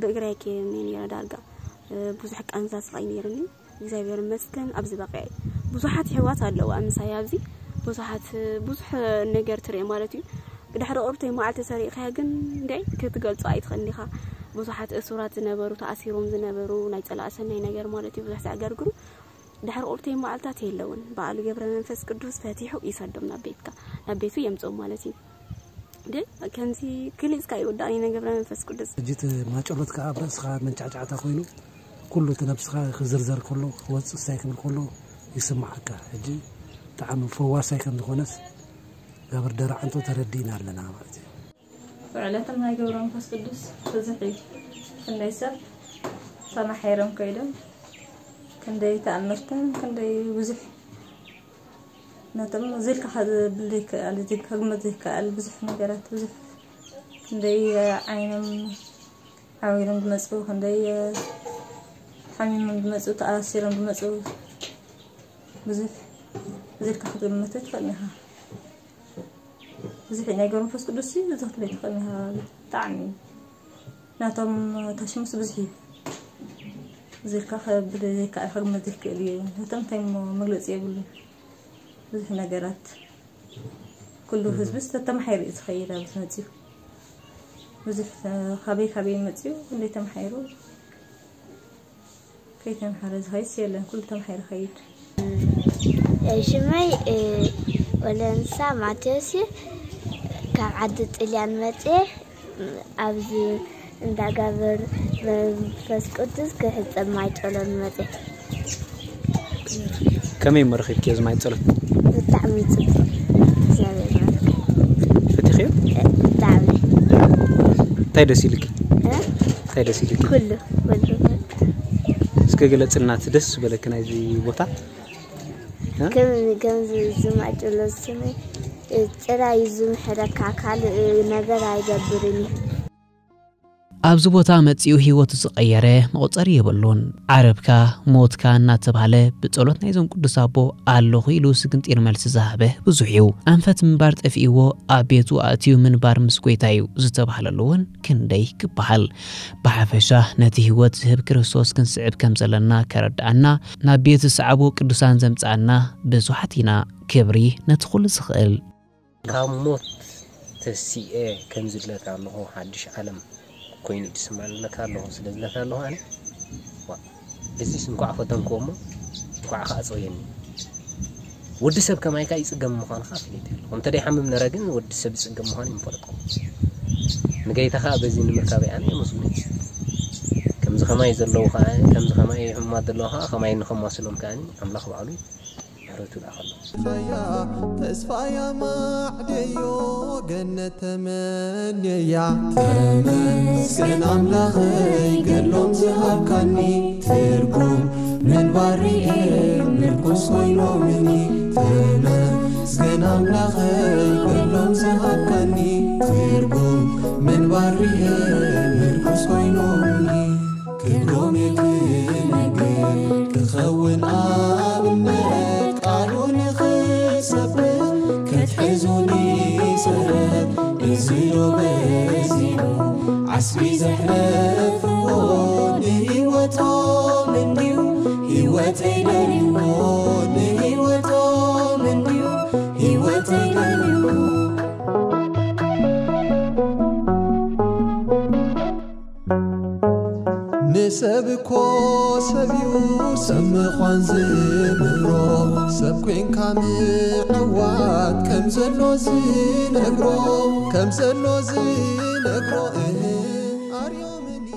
ብእግረይ ከይደ ነይረ ዳርጋ። እ፣ ብዙሕ ቃንዛ ስቓይ ነይሩኒ። እግዚኣብሔር ይመስገን ኣብዚ በቂዐ። ብዙሓት ኣሕዋት ኣለዋ ምሳይ ኣብዚ። ብዙሓት፣ ብዙሕ ነገር ትርኢ ማለት እዩ። ድሕሪ ቁርብተይ መዓልቲ ሰሪቕካያ ግን እንደ ክትገልጾ ኣይትኽእልን ኢኻ። ብዙሓት እሱራት ዝነበሩ፣ ተኣሲሮም ዝነበሩ፣ ናይ ጸላእ ሰናይ ነገር ማለት እዩ፣ ብዙሕ ዘዕገርግሩ። ድሕሪ ቁርብተይ መዓልታት የለውን። በዓሉ ገብረ መንፈስ ቅዱስ ፈቲሑ ይሰዶም ናብ ቤትካ፣ ናብ ቤቱ የምጽኦም ማለት እዩ። እንደ ከምዚ ግሊጽካ ይውዳእን እዩ ናይ ገብረ መንፈስ ቅዱስ። ሕጂ እቲ ማጨሎት ከኣ ኣብ ርእስኻ መንጫዕጫዕታ ኮይኑ፣ ኩሉ እቲ ነብስኻ ክዝርዘር ከሎ፣ ክወጽእ ሳይ ክብል ከሎ ይስምዓካ። ሕጂ ብጣዕሚ ፈዋሳይ ከም ዝኾነስ ጋብር ደራዕንቶ ተረዲእና ኣለና ማለት እዩ። ውዕለቶም ናይ ገብረ መንፈስ ቅዱስ ብዙሕ እዩ። ክንደይ ሰብ ተማሒሮም ከይዶም፣ ክንደይ ተኣምርትን፣ ክንደይ ብዙሕ ነቶም ዝልካ ዝብል ዘይከኣል፣ ዝግ-፣ ከግመት ዘይከኣል ብዙሕ ነገራት፣ ብዙሕ ክንደይ ዓይኖም ዓዊሮም ዝመጹ፣ ክንደይ ሓሚሞም ዝመጹ፣ ተኣሲሮም ዝመጹ፣ ብዙሕ ዝልካ ክትግምት ኣይትኽእልን ኢኻ። ብዙሕ ናይ ገብረ መንፈስ ቅዱስ እዩ፣ እዚ ክትብል ኣይትኽእልን ኢኻ። ብጣዕሚ ናቶም ታሽሙስ ብዙሕ እዩ። ዝልካ ከብል ዘይከኣል፣ ከግመት ዘይክእል እዩ። ናቶም እንታይ እሞ መግለጺ የብሉን። ብዙሕ ነገራት። ኩሉ ህዝብስ ተተማሒሩ እዩ ዝኸይድ ኣብዚ መጺኡ። ብዙሕ ተ-፣ ካበይ ካበይ መጺኡ፣ ክንደይ ተማሒሩ፣ ከይተምሓረ ዝኸይድስ የለን። ኩሉ ተማሒሩ ይኸይድ። ሽመይ፣ እ፣ ወለንሳ ማቴዎስ እዩ። ካብ ዓዲ ጥልያን መጽየ፣ ኣብዚ እንዳ ጋብር መንፈስ ቅዱስ ክሕጸብ ማይ ጸሎት መጽየ። ከመይ እሞ ረኺብክዮ እዚ ማይ ጸሎት? ብጣዕሚ ጽቡቕ። እግዚኣብሔር ይባርክ። ፈቲኽዮ? ብጣዕሚ። እንታይ ደስ ኢልኪ? እ? እንታይ ደስ ኢልኪ? ኩሉ፣ ኩሉ። እስከ ግለጽልና እቲ ደስ ዝበለኪ ናይዚ ቦታ። እ? ከም፣ ከምዚ ዝማጭሎ ስኒ ጭራ እዩ ዝምሕረካ፣ ካልእ ነገር ኣይገብርን እዩ። ኣብዚ ቦታ መጺኡ ህይወቱ ዝቐየረ መቑጸሪ የብሉን። ዓረብካ፣ ሞትካ እናተባህለ ብጸሎት ናይዞም ቅዱስ ኣቦ ኣለኹ ኢሉ ስግንጢር መልሲ ዝሃበ ብዙሕ እዩ። ኣንፈት ምንባር ጠፊእዎ ኣብ ቤቱ ኣእትዩ ምንባር ምስ ጎይታ እዩ ዝተባህለሉ እውን ክንደይ ክበሃል። ብሓፈሻ ነቲ ህይወት ዝህብ ክርስቶስ ክንስዕብ ከም ዘለና ከረድኣና፣ ናብ ቤቱ ዝሰዓቡ ቅዱሳን ዘምጽኣና ብዙሓት ኢና። ክብሪ ነቲ ኩሉ ዝኽእል። ካብ ሞት ተሲኤ ከም ዝድለካ ኣለኹ ሓድሽ ዓለም ኮይኑ ይድስማለካ ኣለኹ ስለ ዝለካ ኣለኹ ኣነ። ዋ፣ እዚስ እንኳዕ ፈተንክዎ እሞ እንኳዕ ከዓ ፀውየኒ። ወዲ ሰብ ከማይካ ይፅገም ምዃንካ ኣፍሊጠ ኣለኹ። እንተ ደይሓምም ነረ ግን ወዲ ሰብ ይፅገም ምዃኑ ይምፈለጥኩ። ንገይታ ከዓ በዚ ንምርካበይ ኣነ የመስግኖ። ከምዚ ከማይ ዘለዉ ከዓ፣ ከምዚ ከማይ ሕሙማት ዘለዉ ከዓ ከማይ ንኸማስሎም ከዓኒ ኣምላኽ ባዕሉ ምሕረቱ ይልኣኸሎም። ተስፋያ ማዕደዮ ገነት ተመንየያ። ተመስገን ኣምላኸይ ገድሎም ዝሃብካኒ ትርጉም ምንባር ርኤ ምርኩስ ኮይኖምኒ። ተመስገን ኣምላኸይ ገድሎም ዝሃብካኒ ትርጉም ምንባር ርኤ ምርኩስ ኮይኖምኒ። ክብሮም ክነግር ክኸውን ኣብነት ቃሉ ንኽሰብኽ ክትሕዙኒ ሰረት እዚ ዶ በዚሑ ዓስቢ ዘሕለፍዎ ንህይወቶም እንድዩ ህይወተይ ደልዎ ንህይወቶም እንድዩ ህይወተይ ደልዎ ንሰብ እኮ ሰብ እዩ ሰብ ምዃን ዝምህሮ ሰብ ኮንካ ምዕዋት ከም ዘሎ ዝነግሮ ከም ዘሎ ዝነግሮ እህ ኣርዮምኒ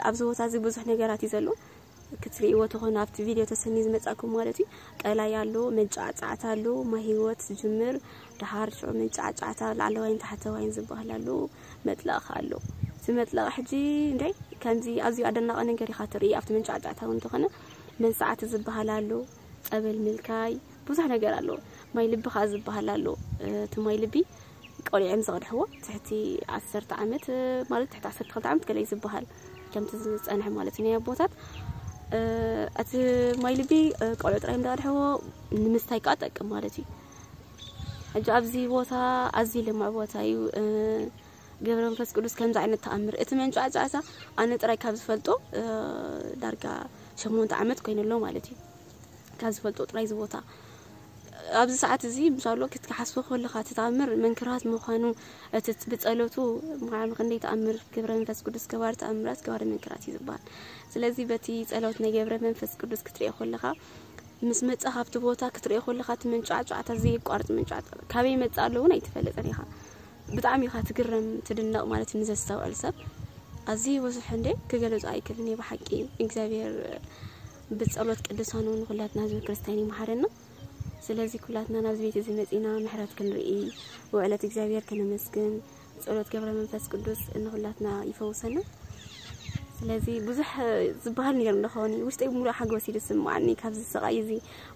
ኣብዚ ቦታ እዚ ብዙሕ ነገራት እዩ ዘሎ ክትርእይዎ ተኾነ ኣብቲ ቪድዮ ተሰኒ ዝመጻኩም ማለት እዩ። ቀላይ ኣሎ፣ መንጫዕጫዕታ ኣሎ፣ ማይ ህይወት ዝጅምር ድሓር ሽዑ መንጫዕጫዕታ ላዕለዋይን ታሕተዋይን ዝበሃል ኣሎ፣ መጥለቕ ኣሎ። እቲ መጥለቕ ሕጂ እንደ ከምዚ ኣዝዩ ኣደናቂ ነገር ኢኻ ትርኢ ኣብቲ መንጫዕጫዕታ እውን ተኾነ መንሰዓቲ ዝበሃል ኣሎ፣ ጸበል ምልካይ ብዙሕ ነገር ኣሎ። ማይ ልብኻ ዝበሃል ኣሎ። እቲ ማይ ልቢ ቆልዑ እዮም ዝቐድሕዎ ትሕቲ ዓሰርተ ዓመት ማለት ትሕቲ ዓሰርተ ክልተ ዓመት ገለ እዩ ዝበሃል ከምቲ ዝፀንሐ ማለት እዩ ናይ ኣቦታት እቲ ማይ ልቢ ቆልዑ ጥራይ እዮም ዝቐድሕዎ ንምስታይ ከዓ ጠቅም ማለት እዩ ሕጂ ኣብዚ ቦታ ኣዝዩ ልምዕ ቦታ እዩ ገብረ መንፈስ ቅዱስ ከምዚ ዓይነት ተኣምር እቲ መንጫዕጫዕታ ኣነ ጥራይ ካብ ዝፈልጦ ዳርጋ ሸሞንተ ዓመት ኮይኑ ኣሎ ማለት እዩ ካብ ዝፈልጦ ጥራይ እዚ ቦታ ኣብዚ ሰዓት እዚ ምሻሎ ክትሓስቦ ከለኻ እቲ ተኣምር መንክራት ምዃኑ እቲ ብጸሎቱ ማዕም ክንደይ ተኣምር ግብረ መንፈስ ቅዱስ ገባሪ ተኣምራት ገባሪ መንክራት እዩ ዝበሃል ስለዚ በቲ ጸሎት ናይ ገብረ መንፈስ ቅዱስ ክትሪኦ ከለኻ ምስ መጻ ካብቲ ቦታ ክትሪኦ ከለኻ እቲ መንጫዕጫዕታ ዘየቋርጥ መንጫዕጫ ካበይ መጻ ኣሎ እውን ኣይትፈልጥን ኢኻ ብጣዕሚ ኢኻ ትግረም ትድነቕ ማለት እዩ ንዘስተውዕል ሰብ ኣዝዩ ብዙሕ እንደ ክገለጹ ኣይክልን እየ ብሓቂ እግዚኣብሔር ብጸሎት ቅዱሳኑ ንኩላትና ህዝቢ ክርስቲያን ይምሓረና ስለዚ ኩላትና ናብዚ ቤት እዚ መጺና ምሕረት ክንርኢ ውዕለት እግዚኣብሔር ከነመስግን ጸሎት ገብረ መንፈስ ቅዱስ ንኩላትና ይፈውሰና ስለዚ ብዙሕ ዝበሃል ነገር እንደኾኒ ውሽጠይ ሙሉእ ሓጎስ እዩ ዝስምዓኒ ካብዚ ስቓይ እዚ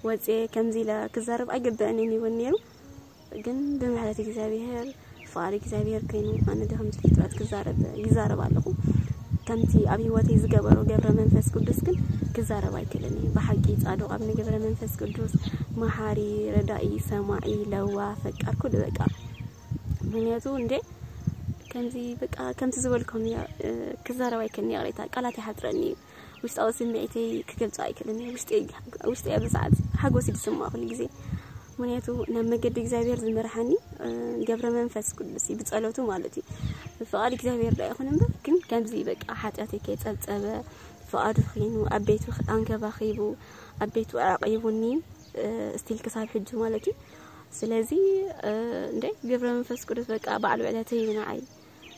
ወፅየ ከምዚ ኢለ ክዛረብ ኣይግበእንን ይውን ነይሩ ግን ብምሕረት እግዚኣብሔር ፍቓድ እግዚኣብሔር ኮይኑ ኣነ ዶ ከምዚ ፍጥረት ክዛረብ ይዛረብ ኣለኹ ከምቲ ኣብ ህይወተይ ዝገበሮ ገብረ መንፈስ ቅዱስ ግን ክዛረብ ኣይክእልን እዩ ብሓቂ ፃዱቕ ኣብ ንገብረ መንፈስ ቅዱስ መሓሪ ረዳኢ ሰማዒ ለዋ ፈቃር ኩሉ በቃ ምክንያቱ እንዴ ከምዚ በቃ ከምቲ ዝበልኩም ክዛረብ ኣይክእልን ይቕሬታ ቃላት ይሓፅረኒ እዩ ውሽጣዊ ስምዒተይ ክገልፆ ኣይክእልን እየ ውሽጠይ ኣብዚ ሰዓት ሓጎስ እዩ ዝስምዖ ኩሉ ግዜ ምክንያቱ ናብ መገዲ እግዚኣብሔር ዝመርሓኒ ገብረ መንፈስ ቅዱስ እዩ ብፀሎቱ ማለት እዩ ፍቓድ እግዚኣብሔር ዳ ይኹን እምበር ግን ከምዚ በቃ ሓጢኣተይ ከይፀብፀበ ፍቓዱ ኺኑ ኣብ ቤቱ ኣንከባኺቡ ኣብ ቤቱ ኣዕቒቡኒ ስቲል ክሳብ ሕጂ ማለት እዩ ስለዚ እንደ ገብረ መንፈስ ቅዱስ በቃ ባዕሉ ዕለተይ እዩ ንዓይ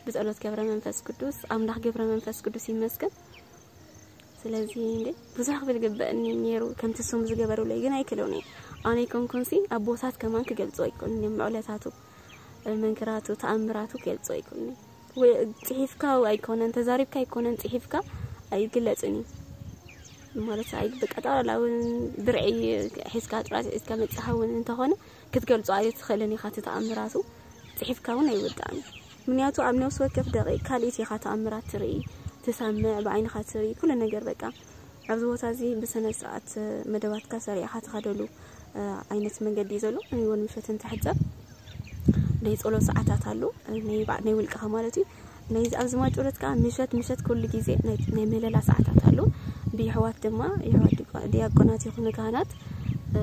ብፀሎት ገብረ መንፈስ ቅዱስ ኣምላኽ ገብረ መንፈስ ቅዱስ ይመስገን ስለዚ እንደ ብዙሕ ክብል ግበእኒ ነይሩ ከምቲ ስሙ ዝገበሩለይ ግን ኣይክለውኒ ኣነ ይኮንኩንሲ ኣቦታት ከማን ክገልጾ ኣይኮን ምዕለታቱ መንክራቱ ተኣምራቱ ክገልጾ ኣይኮን ወይ ጽሒፍካ ኣይኮነን ተዛሪብካ ኣይኮነን ጽሒፍካ ኣይግለጽን እዩ ማለት ኣይ በቃ ጠቕላላ እውን ብርዒ ሒዝካ ጥራይ ሒዝካ መጽሓ እውን እንተኾነ ክትገልጾ ኣይትኽእልን ኢኻ። እቲ ተኣምራቱ ጽሒፍካ እውን ኣይውዳእን። ምክንያቱ ኣብ ነፍሲ ወከፍ ደቂቕ ካልኢት ኢኻ ተኣምራት ትርኢ፣ ትሰምዕ፣ ብዓይንኻ ትርኢ፣ ኩሉ ነገር በቃ። ኣብዚ ቦታ እዚ ብስነ ስርዓት መደባትካ ሰሪዕኻ ትኸደሉ፣ እ፣ ዓይነት መንገዲ እዩ ዘሎ። ንግሆን ምሸትን ትሕጸብ ናይ ጸሎት ሰዓታት ኣሎ፣ ናይ ባዕ-፣ ናይ ውልቅኻ ማለት እዩ። ናይ ኣብዚ ማይጨሎት ከዓ ምሸት ምሸት ኩሉ ግዜ ናይ፣ ናይ ምህለላ ሰዓታት ኣሎ። ብየሕዋት ድማ፣ የሕዋት ዲቆ-፣ ዲያቆናት ይኹኑ ካህናት፣ እ፣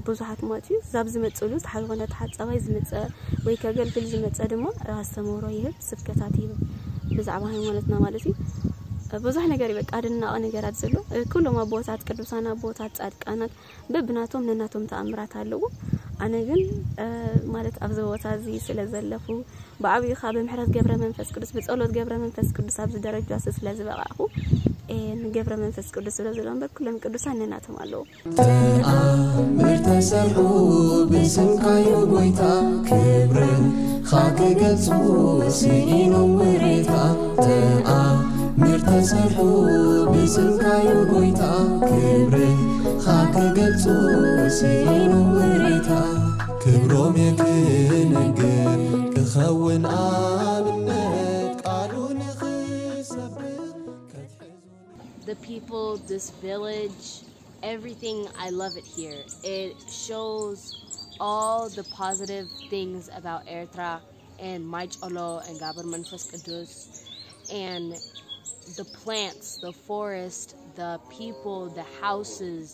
ብዙሓት ማለት እዩ። ዛብ ዝመጽእሉ፣ ዝሓ-፣ ዝኾነ ተሓጻባይ ዝመጸ ወይ ከገልግል ዝመጸ ድማ ኣስተምህሮ ይህብ፣ ስብከታት ይህብ ብዛዕባ ሃይማኖትና ማለት እዩ። ብዙሕ ነገር እዩ፣ በቃ፣ ኣደናቂ ነገራት ዘሎ። ኩሎም ኣቦታት፣ ቅዱሳን ኣቦታት፣ ጻድቃናት በብናቶም ነናቶም ተኣምራት ኣለዎ። ኣነ ግን፣ እ፣ ማለት ኣብዚ ቦታ እዚ ስለ ዘለፉ፣ ብዓብዩ ኸኣ ብምሕረት ገብረ መንፈስ ቅዱስ፣ ብጸሎት ገብረ መንፈስ ቅዱስ ኣብዚ ደረጃ ስ-፣ ስለ ዝበቓዕኩ፣ እ፣ ንገብረ መንፈስ ቅዱስ ስለ ዘሎ እምበር፣ ኩሎም ቅዱሳን ነናቶም ኣለዉ። ተኣምር ተሰርሑ ብስምካዩ ጎይታ፣ ክብርኻ ክገልጹ ስኢኖም ውሬታ። ተኣምር ተሰርሑ ብስምካዩ ጎይታ፣ ክብርኻ ክገልጹ ስኢኖም ውሬታ። ክብሮም የክነግር ክኸውን ኣብነት፣ ቃሉ ንኽሰብኽ ከትሕዙ። The people, this village, everything, I love it here. It shows all the positive things about Ertra and Maicholo and Gabar Manfas Kudus and the plants, the forest, the people, the houses,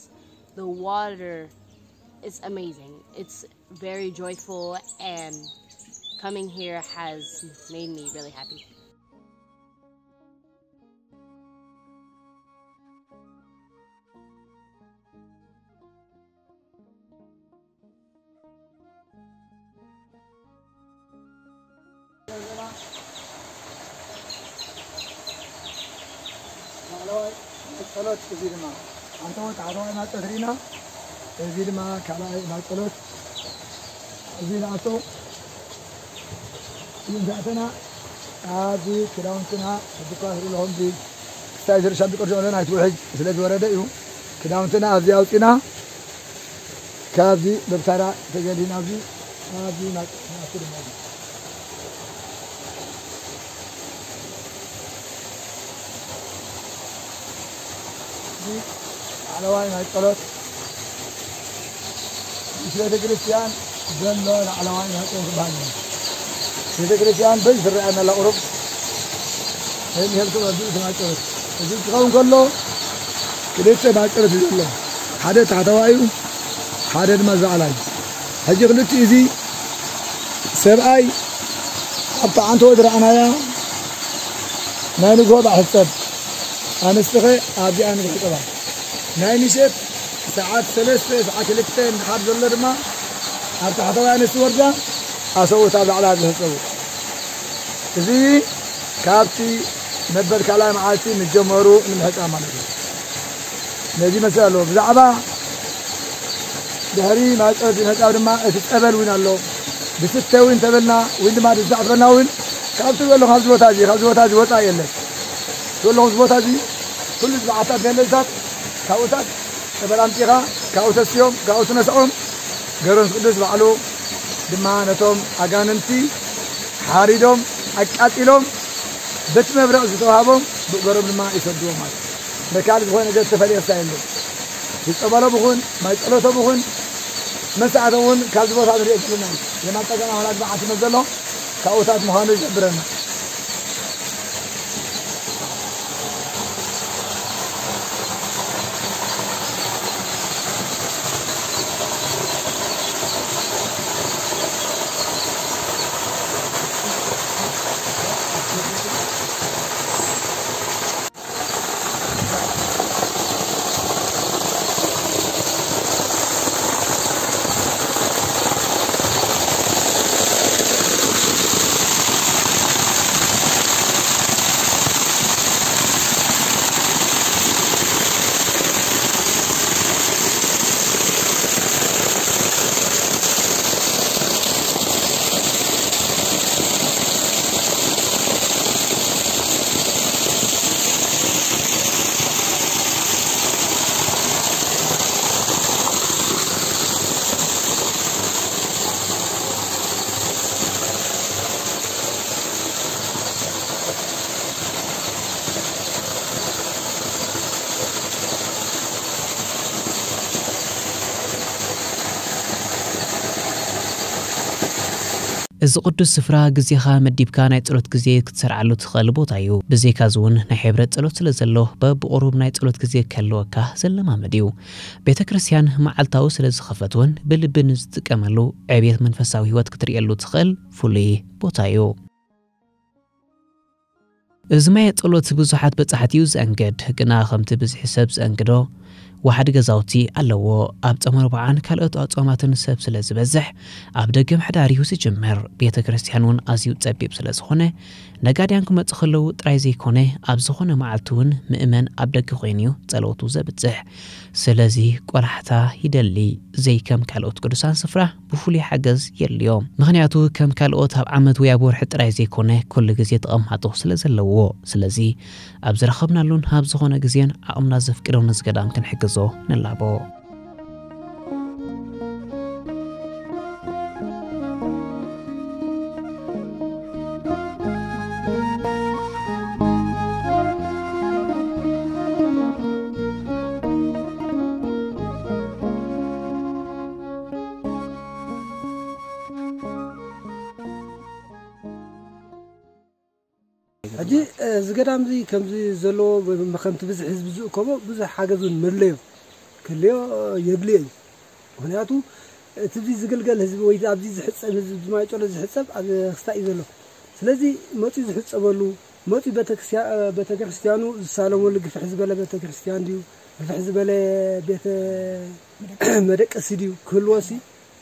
the water. It's amazing. It's very joyful, and coming here has made me really happy. ላዕለዋይ ጸሎት፣ እዚ ድማ ኣንተ ወጣ ሓደዋይ ማጸት ሪና፣ እዚ ድማ ካልኣይ ማጸሎት፣ እዚ ንኣቶ ይንዛዕተና፣ ኣብዚ ክዳውንትና፣ ሕጂ እኳ ትርኢ ኣለኹም፣ እዚ ክሳይ ዝርሻ ብቅርጺ ኣለና፣ ኣይትውሕጅ ስለ ዝወረደ እዩ። ክዳውንትና ኣብዚ ኣውጺና፣ ካብዚ በብታራ ተገሊና ኣብዚ፣ ኣብዚ ማይ፣ ናብቲ ድማ እዚ። እዚ ላዕለዋይ ናይ ጸሎት፣ ምስ ቤተ ክርስቲያን ዘሎ ላዕለዋይ ናይ ጸሎት ዝበሃል እዩ። ቤተ ክርስቲያን በዚ ዝረኣየና ኣላ ቁሩብ፣ ከይምሄልኩም ኣብዚ እቲ ናይ ጸሎት። እዚ ክኸውን ከሎ ክልተ ናይ ጸሎት እዩ ዘሎ። ሓደ ታሕተዋይ እዩ፣ ሓደ ድማ ዝላዕላይ። ሕጂ ክልቲኡ እዚ ሰብኣይ ኣብታ ዓንተወት ረኣናያ ናይ ንግሆ ባሕጸብ፣ ኣንስትኸ ኣብዚኣ ንግሆ ሕጸባ። ናይ ምሸት ሰዓት ሰለስተ፣ ሰዓት ክልተ እንድሓር ዘሎ ድማ ኣብ ታሕተዋይ ኣንስቲ ወርዳ ኣሰብኡት ኣብ ላዕሊ ኣብ ዝሕጸቡ። እዚ ካብቲ መበል ካልኣይ መዓልቲ ምጀመሩ ንምሕጻብ ማለት እዩ። ነዚ ይመስል ኣሎ። ብዛዕባ ድሕሪ ማይጸሎት ዝመጻ ድማ እቲ ጸበል እውን ኣሎ። ዝስተ እውን እንተበልና፣ እውን ድማ ዝዛዕፈና እውን ካብቲ ዘሎ ካብዚ ቦታ እዚ፣ ካብዚ ቦታ እዚ ወጻኢ የለን። ዘሎ ኣብዚ ቦታ እዚ ኩሉ ዝበዓታት ገለልታት ካብኡታት ጸበል ኣምጺኻ፣ ካብኡ ተስዮም፣ ካብኡ ትነስዖም። ገብረ መንፈስ ቅዱስ ባዕሉ ድማ ነቶም ኣጋንንቲ ሓሪዶም፣ ኣቃጺሎም፣ በቲ መብረቕ ዝተዋህቦም ብእገሮም ድማ ይሰድዎም ማለት እዩ። በካልእ ዝኾነ ነገር ዝተፈልየ ክሳብ የለን። ዝጸበሎም ይኹን፣ ማይ ጸሎቶም ይኹን፣ መሳዕቶም እውን ካብዚ ቦታ ንሪኦ ዘለና እዩ። የማን ጸገም ኣምላክ በዓቲ መዘሎ ካብኡታት ምዃኑ ይገብረና። እዚ ቅዱስ ስፍራ ግዜኻ መዲብካ ናይ ጸሎት ግዜ ክትሰርዓሉ ትኽእል ቦታ እዩ። ብዘይካዚ እውን ናይ ሕብረት ጸሎት ስለ ዘሎ፣ በብቑሩብ ናይ ጸሎት ግዜ ክህልወካ ዘለማመድ እዩ። ቤተ ክርስቲያን መዓልታዊ ስለ ዝኸፈት እውን ብልቢ ንዝጥቀመሉ ዕብየት መንፈሳዊ ህይወት ክትርእየሉ ትኽእል ፍሉይ ቦታ እዩ። እዚ ማየ ጸሎት ብዙሓት በጻሕቲ እዩ ዘእንግድ፣ ግና ከምቲ ብዝሒ ሰብ ዘእንግዶ ዋሕዲ ገዛውቲ ኣለዎ። ኣብ ጾመ ኣርብዓን ካልኦት ኣጽዋማትን ሰብ ስለ ዝበዝሕ፣ ኣብ ደገ ምሕዳር እዩ ዝጅምር። ቤተ ክርስቲያን እውን ኣዝዩ ጸቢብ ስለ ዝኾነ፣ ነጋድያን ክመጹ ከለዉ ጥራይ ዘይኮነ፣ ኣብ ዝኾነ መዓልቲ እውን ምእመን ኣብ ደገ ኮይኑ እዩ ጸሎቱ ዘብጽሕ። ስለዚ ቆላሕታ ይደሊ። ዘይከም ካልኦት ቅዱሳን ስፍራ ብፍሉይ ሓገዝ የድልዮ። ምኽንያቱ ከም ካልኦት ኣብ ዓመት ወይ ኣብ ወርሒ ጥራይ ዘይኮነ፣ ኩሉ ግዜ ተቐማጦ ስለ ዘለዎ። ስለዚ ኣብ ዝረኸብናሉን ኣብ ዝኾነ ግዜን ዓቕምና ዘፍቅዶ ነዚ ገዳም ክንሕግዞ ንላቦ። ሕጂ፣ እ፣ እዚ ገዳም እዚ ከምዚ ዘለዎ፣ ብ-፣ ብ-፣ ከምቲ ብዝሒ ህዝቢ ዝእከቦ ብዙሕ ሓገዝ እውን መድለዮ ክህልዮ፣ እ፣ የድልዮ እዩ። ምኽንያቱ እቲ ኣብዚ ዝግልገል ህዝቢ ወይ ኣብዚ ዝሕጸብ ህዝቢ፣ እዚ ማይ ጸሎት ዝሕጸብ ኣብ ክስታይ እዩ ዘሎ። ስለዚ መጺኡ ዝሕጸበሉ፣ መጺኡ ቤተክርስትያ-፣ እ፣ ቤተክርስትያኑ ዝሳለመሉ፣ ግፍሕ ዝበለ ቤተክርስትያን ድዩ፣ ግፍሕ ዝበለ ቤተ መደቀሲ ድዩ ክህልዎ ሲ፣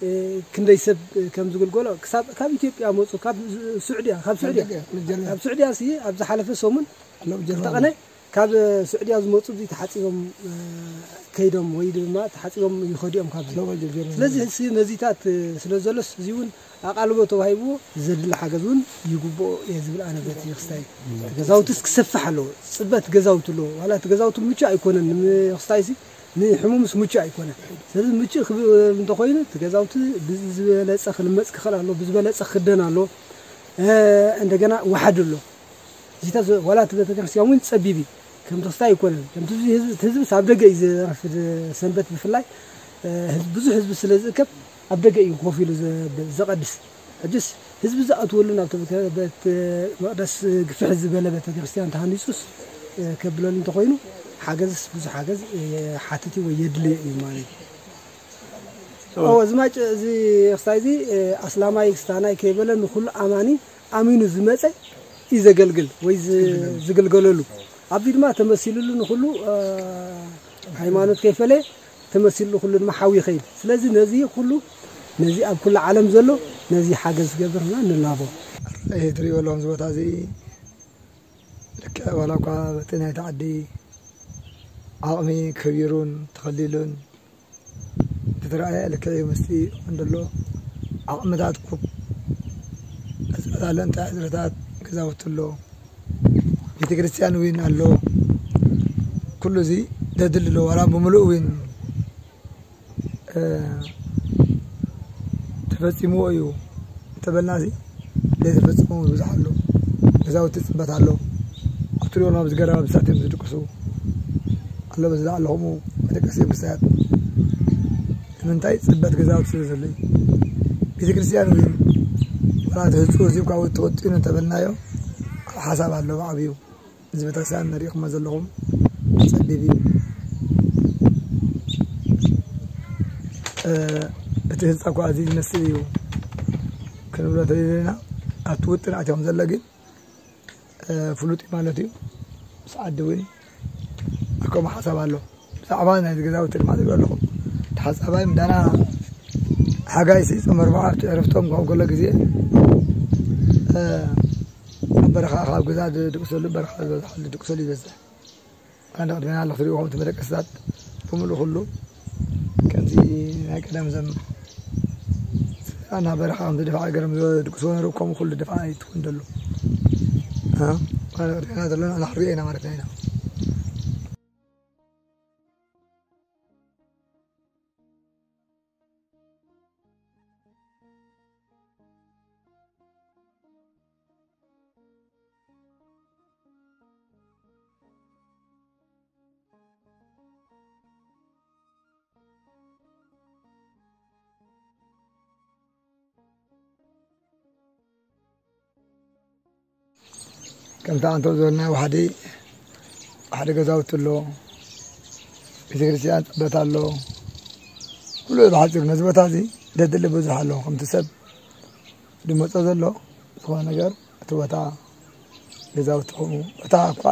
እ፣ ክንደይ ሰብ ከም ዝግልገሎ ክሳብ ካብ ኢትዮጵያ መጹ፣ ካብ ስ-፣ ስዑድያ፣ ካብ ስዑድያ፣ ካብ ስዑድያ ሲ ኣብ ዝሓለፈ ሰሙን ኣለዉ ጀርመን ክልተ ቀነ ካብ ስዑድያ ዝመጹ እዚ ተሓጺቦም፣ እ፣ ከይዶም ወይ ድማ ተሓጺቦም ይኸዱ እዮም ካብዚ። ኣለዉ ጀርመን። ስለዚ ሲ ነዚታት፣ እ፣ ስለ ዘሎስ እዚ እውን ኣቓልቦ ተዋሂብዎ ዘድሊ ሓገዝ እውን ይግብኦ እየ ዝብል ኣነ በቲ ክስታይ። ገዛውትስ ክሰፍሕ ኣለዎ። ጽበት ገዛውቲ ኣለዎ። ዋላ እቲ ገዛውቲ ምቹእ ኣይኮነን። ም-፣ ክስታይ ሲ ንሕሙምስ ምቹእ ኣይኮነን። ስለዚ ምቹእ ክብ-፣ እንተኾይኑ እቲ ገዛውቲ ብዝበለጸ ክልመጽ ክኽእል ኣሎ፣ ብዝበለጸ ክኽደን ኣሎ። እ፣ እንደገና ዋሕዲ ኣሎ። እዚታት ዘ-፣ ዋላ እቲ ቤተክርስትያን እውን ጸቢብ እዩ። ከም ተስታይ ኣይኮነን። ከምቲ ህዝቢ፣ ህዝቢ ኣብ ደገ እዩ ዘረፍድ፣ ሰንበት ብፍላይ፣ እ፣ ህዝቢ፣ ብዙሕ ህዝቢ ስለ ዝእከብ ኣብ ደገ እዩ ኮፍ ኢሉ ዘ-፣ ዘቐድስ። ሕጅስ ህዝቢ ዝኣትወሉ ናብ ቤተ-፣ ቤተ መቕደስ ግፍሕ ዝበለ ቤተክርስትያን ተሃኒጹስ፣ እ፣ ከብለሉ እንተኾይኑ ሓገዝስ ብዙሕ ሓገዝ፣ እ፣ ሓትት እዩ ወይ የድሊ እዩ ማለት እዩ። እዎ፣ እዚ ማጭ-፣ እዚ ክስታይ እዚ፣ እ፣ ኣስላማይ ክስታናይ ከይበለ ንኹሉ ኣማኒ ኣሚኑ ዝመጸ እዩ ዘገልግል ወይ ዝ-፣ ዝግልገለሉ። ኣብዚ ድማ ተመሲሉሉ ንኹሉ፣ እ፣ ሃይማኖት ከይፈለየ ተመሲሉሉ ኩሉ ድማ ሓው ይኸይድ። ስለዚ ነዚ ኩሉ፣ ነዚ ኣብ ኩሉ ዓለም ዘሎ ነዚ ሓገዝ ዝገብርና ንላቦ። እዚ ትሪእዎ ኣለኹም፣ እዚ ቦታ እዚ ልክዕ ዋላ እኳ በቲ ናይቲ ዓዲ ዓቕሚ ከቢሩን ተኸሊሉን እንተተረኣየ ልክዕ እዩ፣ ምስቲ እንድሎ ዓቕምታት ኩብ፣ ዕፅዋት ኣሎ፣ እንታይ ዕፅዋታት፣ ገዛውቲ ኣሎ፣ ቤተ ክርስቲያን እውን ኣሎ። ኩሉ እዚ ዘድሊ ኣሎ። ዋላ ብምሉእ እውን፣ እ፣ ተፈፂምዎ እዩ እንተበልና፣ እዚ ዘይተፈፀሙ ብዙሕ ኣሎ። ገዛውቲ ፅበት ኣሎ። ኣብ ትሪኦ ኣብዚ ገረባ ብሳት እዮም ዝድቅሱ። ኣሎ በዚ ላዕሊ ከምኡ መደቀሲ እዮም ክሳያት። ንምንታይ? ፅበት ገዛውቲ ስለ ዘሎ እዩ። ቤተ ክርስቲያን እውን ዋላ እቲ ህንፅኡ እዚ እኳ ተወጢኑ እንተበልናዮ፣ ኣብ ሓሳብ ኣሎ ብዓብዩ። እዚ ቤተክርስትያን ንሪእኹሞ ዘለኹም ጸቢብ እዩ። እ፣ እቲ ህንጻ እኳ እዚ ዝመስል እዩ ክንብሎ ተደሊና፣ ኣብቲ ውጥን ኣትዮም ዘሎ ግን፣ እ፣ ፍሉጥ እዩ ማለት እዩ። ምስ ዓዲ እውን ከምኡ ሓሳብ ኣሎ። ብዛዕባ ናይ ገዛውቲ ድማ ትሪኡ ኣለኹም። ተሓጻባይ ምዳና ሓጋይ ሲ ጾም ኣርብዓ ኣብቲ ዕረፍቶም ካብ ገሎ ግዜ፣ እ፣ ኣብ በረኻ ካብ ገዛ ዝድቅሰሉ፣ በረኻ ዝበዝሓሉ ዝድቅሰሉ ይበዝሕ። ኣነ ቅድሜና ኣለኹ ትሪኡ ከምቲ መደቀስታት ብምሉእ ኩሉ ከምዚ ናይ ቀደም ዘም ኣና በረኻ ከምቲ ድፋዕ ገረም ዝድቅስዎ ነሩ ከምኡ ኩሉ ድፋዕ ኣይትውን ደሉ። እ? ኣነ ቅድሜና ዘለና ኣና ክንሪኦ ኢና ማለት ኢና። ከምታ ኣንተ ዝበልና ዋሕዲ፣ ዋሕዲ ገዛውቲ ኣሎ፣ ቤተክርስትያን ፅበት ኣሎ። ኩሉ ብሓፂሩ ነዚ ቦታ እዚ ደድሊ ብዙሕ ኣሎ። ከምቲ ሰብ ዝመፆ ዘሎ ዝኾነ ነገር እቲ ቦታ ገዛውቲ ኾኑ፣ እታ እኳ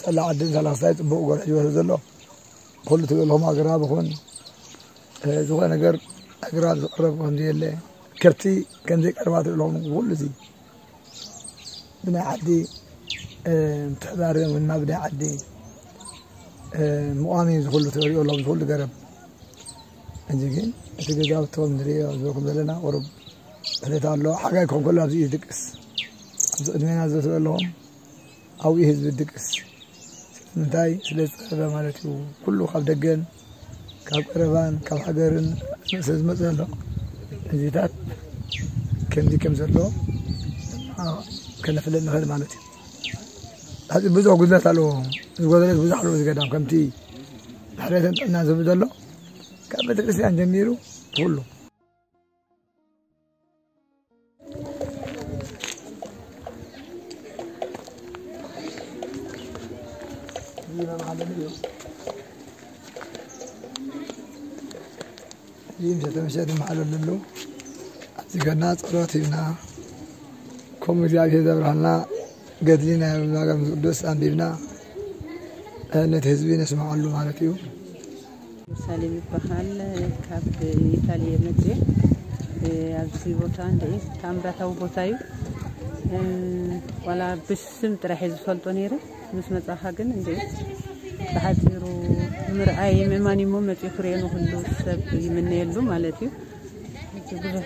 ፀላ ዓድን ሳላክሳይ ፅቡቕ ጎርሕ ዝበለ ዘሎ ኩሉ ትብልኹም ኣግራብ ይኹን፣ እ፣ ዝኾነ ነገር ኣግራብ ዝቕረብ ከምዚ የለ፣ ከብቲ ከምዘይቀርባ ትብልኹም ኩሉ እዚ ብናይ ዓዲ፣ እ፣ ምትሕባር ወይ ድማ ብናይ ዓዲ፣ እ፣ ምቋሚ ዝኹሉ ትሪኦ ኣለኹም ዝኹሉ ገረብ። እንጂ ግን እቲ ገዛውቶም ንሪኦ ዝበልኩም ዘለና ቁሩብ ሕደት ኣሎ። ሓጋይ ክኾን ከሎ ኣብዚ እዩ ዝድቅስ። ኣብዚ ቅድሜና ዘሎ ኣለኹም ኣብኡ ህዝቢ ድቅስ። ስለምንታይ? ስለ ዝጸበበ ማለት እዩ። ኩሉ ካብ ደገን ካብ ቀረባን ካብ ሃገርን ስለ ዝመጽእ ዘሎ፣ እዚታት ከምዚ ከም ዘሎ፣ አ፣ ከነፍልጥ ንኽእል ማለት እዩ። ኣብዚ ብዙሕ ጉድለት ኣለዎ። ዝጎደለት ብዙሕ ኣለዎ። እዚ ገዳም ከምቲ ድሕረትን ጥዕና ዝብል ዘሎ ካብ ቤተክርስትያን ጀሚሩ ኩሉ ይህ ምሸት ምሸት ይመሓለሉ ኣለዉ። ኣብዚ ገና ጸሎት ሂብና፣ ከምኡ እግዚኣብሔር ዘብርሃልና ገድሊ ናይ መጋቢ ቅዱስ ኣንቢብና፣ ነቲ ህዝቢ ነስምዓሉ ማለት እዩ። ሳሌም ይበሃል። ካብ ኢጣሊ እየ መፅየ። ኣብዚ ቦታ እንደ ታምራታዊ ቦታ እዩ። ዋላ ብስም ጥራሕ እየ ዝፈልጦ ነይረ። ምስ መፃኻ ግን እንደ ብሓፂሩ ምርኣይ ምእማን እሞ መፅኡ ክሪኦ ንኩሉ ሰብ ይምነየሉ ማለት እዩ። ብዙሕ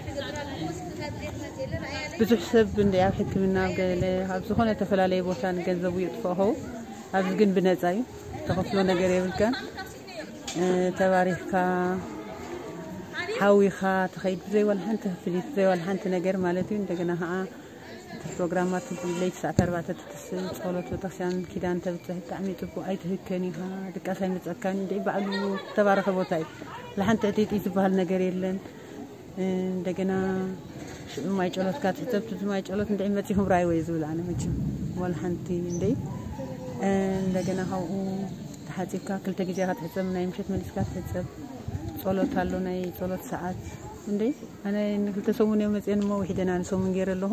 ብዙሕ ሰብ እንደ ኣብ ሕክምና ኣብ ገለ ኣብ ዝኾነ ተፈላለየ ቦታ ንገንዘቡ የጥፍኦ ኸውን። ኣብዚ ግን ብነፃ እዩ። ተኸፍሎ ነገር የብልካን። እ፣ ተባሪኽካ ሓዊኻ ትኸይድ ብዘይ ዋላ ሓንቲ ክፍሊት ብዘይ ዋላ ሓንቲ ነገር ማለት እዩ። እንደገና ከዓ እቲ ፕሮግራማት ለይቲ ሰዓት ኣርባዕተ ትትስል ጸሎት ቤተክርስትያን ኪዳን ተብፅሕ ብጣዕሚ ፅቡቅ ኣይትህከን ኢኻ። ድቃስ ኣይመፀካን እንደ ባዕሉ ተባረኸ ቦታ እዩ። ለሓንቲ ዕጢጢ ዝበሃል ነገር የለን። እንደገና ሽዑ ማይ ጨሎትካ ትሕተብ፣ እቲ ማይ ጨሎት እንድዒ መጺኹም ራይወይ ዝብል ኣነ መቸም ዋላ ሓንቲ እንድዒ። እንደገና ካብኡ ተሓጺብካ ክልተ ግዜ ኢኻ ትሕጸብ፣ ናይ ምሸት መሊስካ ትሕጸብ። ጸሎት ኣሎ፣ ናይ ጸሎት ሰዓት እንድዒ። ኣነ ንክልተ ሰሙን እዮም መጺአን እሞ ውሒደን ኣነ ሰሙን ገይረ ኣለኹ።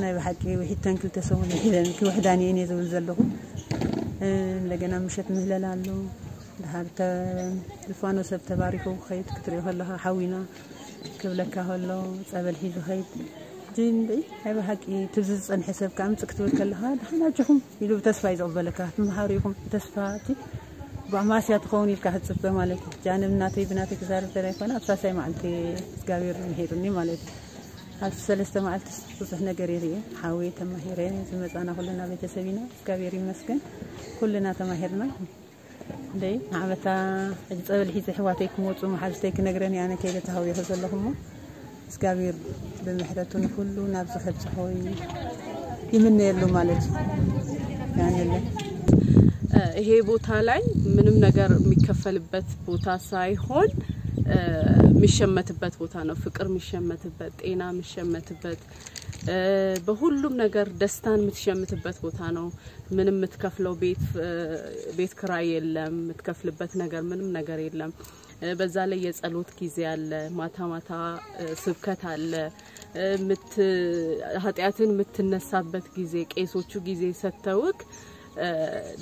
ናይ ብሓቂ ውሒድተን ክልተ ሰሙን ውሒደን ክውሕዳን እየን እየ ዝብል ዘለኹ። እንደገና ምሸት ምህለላ ኣሎ። ድሓር ተ-፣ ዝፋኖ ሰብ ተባሪኹ ክኸይድ ክትሪኦ ከለኻ ሓዊና ክብለካ ከሎ ጸበል ሒዙ ኸይድ። ሕጂ እንድዒ ናይ ብሓቂ ትብዚ ዝጸንሐ ሰብ ከኣ ምጽእ ክትብል ከለኻ፣ "ደሓን ኣጆኹም" ኢሉ ብተስፋ እዩ ዝቕበለካ። ትምሃሩ ኢኹም ብተስፋ፣ እቲ ብኣማስያ ትኸውን ኢልካ ክትጽበ ማለት እዩ። ሕጂ ኣነ ብናተይ፣ ብናተይ ክዛረብ ተለይኮነ፣ ኣብ ሳልሳይ መዓልቲ እግዚኣብሔር ምሒሩኒ ማለት እዩ። ኣብ ሰለስተ መዓልቲ ብዙሕ ነገር እየ ርእየ። ሓወየ ተማሂረ፣ ዝመጻና ኩልና ቤተሰብ ኢና። እግዚኣብሔር ይመስገን። ኩልና ተማሂርና። እንደይ ንዓመታ ሕጂ ጸበል ሒዘ ኣሕዋተይ ክመጹ መሓዙተይ ክነግረን እየ ኣነ ከይደ ተሃዊኹ ዘለኹ እሞ፣ እግዚኣብሔር ብምሕረቱ ንኹሉ ናብዚ ከብጽሖ ይምነየሉ ማለት እዩ። ያንለ። ይሄ ቦታ ላይ ምንም ነገር የሚከፈልበት ቦታ ሳይሆን፣ እ፣ የሚሸመትበት ቦታ ነው። ፍቅር የሚሸመትበት፣ ጤና የሚሸመትበት፣ እ፣ በሁሉም ነገር ደስታን የምትሸምትበት ቦታ ነው። ምንም የምትከፍለው ቤት፣ እ፣ ቤት ክራይ የለም፣ የምትከፍልበት ነገር ምንም ነገር የለም። እ፣ በዛ ላይ የጸሎት ጊዜ አለ፣ ማታ ማታ፣ እ፣ ስብከት አለ። እ፣ ምት-፣ ኃጢአትን የምትነሳበት ጊዜ፣ ቄሶቹ ጊዜ ሰጥተውክ፣ እ፣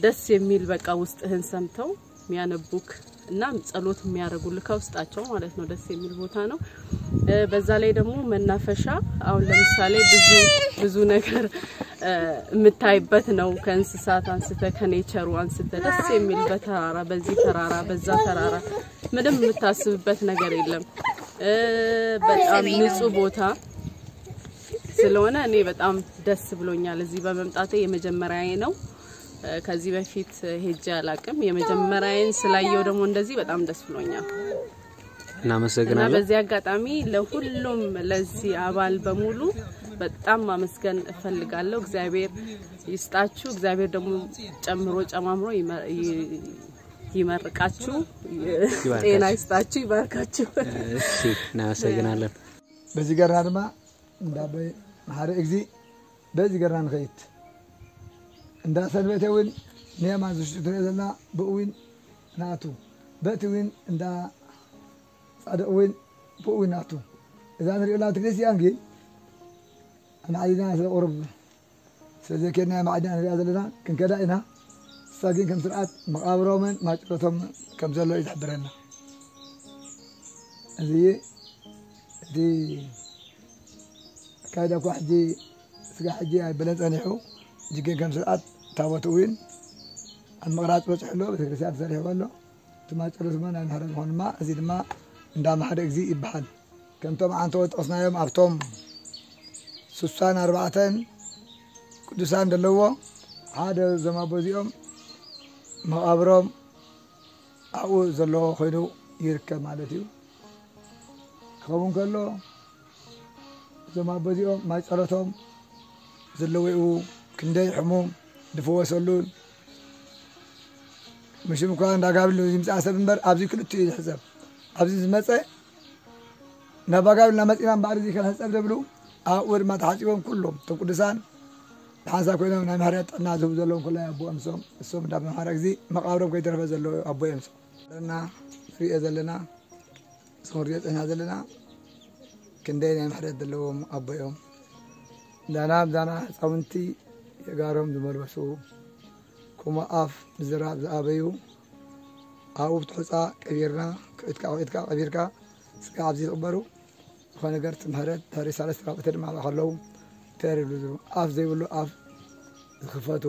ደስ የሚል በቃ ውስጥህን ሰምተው የሚያነቡክ እና ጸሎት የሚያደርጉልህ ከውስጣቸው ማለት ነው። ደስ የሚል ቦታ ነው። እ፣ በዛ ላይ ደግሞ መናፈሻ፣ አሁን ለምሳሌ ብዙ ብዙ ነገር፣ እ፣ የምታይበት ነው። ከእንስሳት አንስተ፣ ከኔቸሩ አንስተ ደስ የሚል በተራራ፣ በዚህ ተራራ፣ በዛ ተራራ ምንም የምታስብበት ነገር የለም። እ፣ በጣም ንጹህ ቦታ ስለሆነ እኔ በጣም ደስ ብሎኛል እዚህ በመምጣቴ። የመጀመሪያዬ ነው። እ፣ ከዚህ በፊት ሄጄ አላቅም። የመጀመሪያዬን ስላየው ደግሞ እንደዚህ በጣም ደስ ብሎኛል። እና እናመሰግናለን። በዚህ አጋጣሚ ለሁሉም ለዚህ አባል በሙሉ በጣም ማመስገን እፈልጋለሁ። እግዚአብሔር ይስጣችሁ። እግዚአብሔር ደግሞ ጨምሮ ጨማምሮ ይመ-፣ ይ-፣ ይመርቃችሁ፣ ይባርካችሁ። ጤና ይስጣችሁ፣ ይባርካችሁ። እሺ፣ እናመሰግናለን። በዚ ገርና ድማ እንዳ ኣቦይ መሓሪ እግዚ በዚ ገርና ንኸይድ። እንዳ ሰንበቴ እውን ንየማን ዝሽጡ ትሪኦ ዘለና ብኡ እውን ንኣቱ። በቲ እውን እንዳ ጻድቕ እውን ብኡ እውን ንኣቱ። እዛ ንሪኦ ዘለና ቤተክርስትያን ግን ኣማዕዲና ስለ ቁሩብ ስለ ዘይከድና እያ ኣማዕዲና ንሪኣ ዘለና። ክንከዳ ኢና። ንሳ ግን ከም ስርዓት መቓብሮምን ማጨሎቶም ከም ዘሎ እዩ ዝሕብረና። እዚ እቲ ኣካይዳ እኳ ሕጂ ስጋ ሕጂ ኣይበለን ጸኒሑ። ሕጂ ግን ከም ስርዓት ታቦት እውን ኣብ ምቕራጽ በጺሑ ኣሎ። ቤተክርስትያን ተሰሪሕዎ ኣሎ። እቲ ማጨሎት ድማ ናይ ምሕረት ዝኾኑ ድማ፣ እዚ ድማ እንዳ ማሕደ እግዚእ ይበሃል። ከምቶም ዓንተቦት ጠቕስናዮም ኣብቶም ስሳን ኣርባዕተን ቅዱሳን ዘለዎ ሓደ እዞም ኣቦ እዚኦም መቓብሮም ኣብኡ ዘለዎ ኮይኑ ይርከብ ማለት እዩ። ክኸውን ከሎ እዞም ኣቦ እዚኦም ማይ ጸሎቶም ዘለውኡ ክንደይ ሕሙም ዝፈወሰሉን፣ ምሽም እኳ እንዳ ጋብሉ ዝምጽኣ ሰብ እምበር ኣብዚ ክልቲኡ እዩ ዝሕሰብ። ኣብዚ ዝመጸ ናብ ኣጋብልና መጺና እምበኣር እዚ ከንሕጸብ ደብሉ ኣብኡ ድማ ተሓጺቦም ኩሎም እቶም ቅዱሳን ብሓንሳብ ኮይኖም ናይ ምሕረት ጥዕና ዝህቡ ዘለዎም ኩላይ ኣቦ እምሶም እሶም እንዳ መሓረ ግዜ መቓብሮም ከይተረፈ ዘለዉ ኣቦ እምሶም እና ንሪኦ ዘለና ንሪኦ ጸኒሕና ዘለና ክንደይ ናይ ምሕረት ዘለዎም ኣቦ እዮም። ዳና ብዳና ህፃውንቲ የጋሮም ዝመልበሱ ከምኡ ኣፍ ምዝራብ ዝኣበዩ ኣብኡ ብትሑፃ ቀቢርና ኩዒትካ ኩዒትካ ቀቢርካ ስጋ ኣብዚ ዝቕበሩ ዝኾነ ነገር ትምህረት ድሕሪ ሰለስተ ራብዕተ ድማ ከለዉ ተር ይብሉ ዝሩ ኣፍ ዘይብሉ ኣፍ ዝኽፈቱ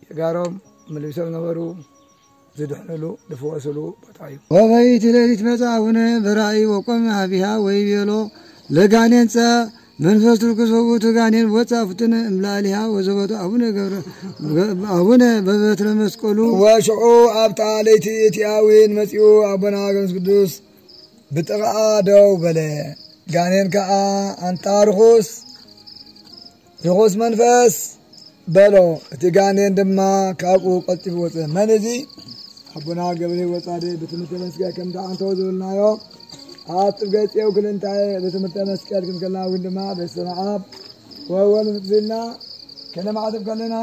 የጋሮም መለቢሶም ነበሩ ዝድሕንሉ ዝፍወስሉ ቦታ እዩ። ወበይቲ ሌሊት መጻ ኣቡነ በራእይ ወቆመ ሀቢሃ ወይቤሎ ለጋኔን ጸ መንፈስ ርኩስ ውእቱ ጋኔን ወጻ ፍጥነ እምላሊሃ ወዘበቱ ኣቡነ ገብረ ኣቡነ በበትረ መስቀሉ። ወሽዑ ኣብታ ለይቲ እቲኣዊን መጺኡ ኣቦና ገብረስ ቅዱስ ብጥቓኣ ደው በለ። ጋኔን ከኣ ኣንታ ርኹስ ርኹስ መንፈስ በሎ። እቲ ጋኔን ድማ ካብኡ ቀልጢፉ ወጸ። መን እዚ? ኣቦና ገብረ ሕይወት ጻድቅ ብትምህርተ መስቀል ከምቲ ኣንተው ዝብልናዮ ኣብ ጥብገጽ የውክል እንታይ ብትምህርተ መስቀል ክንከልና እውን ድማ በስመ ኣብ ወወልድ ኢልና ከነማዕትብ ከለና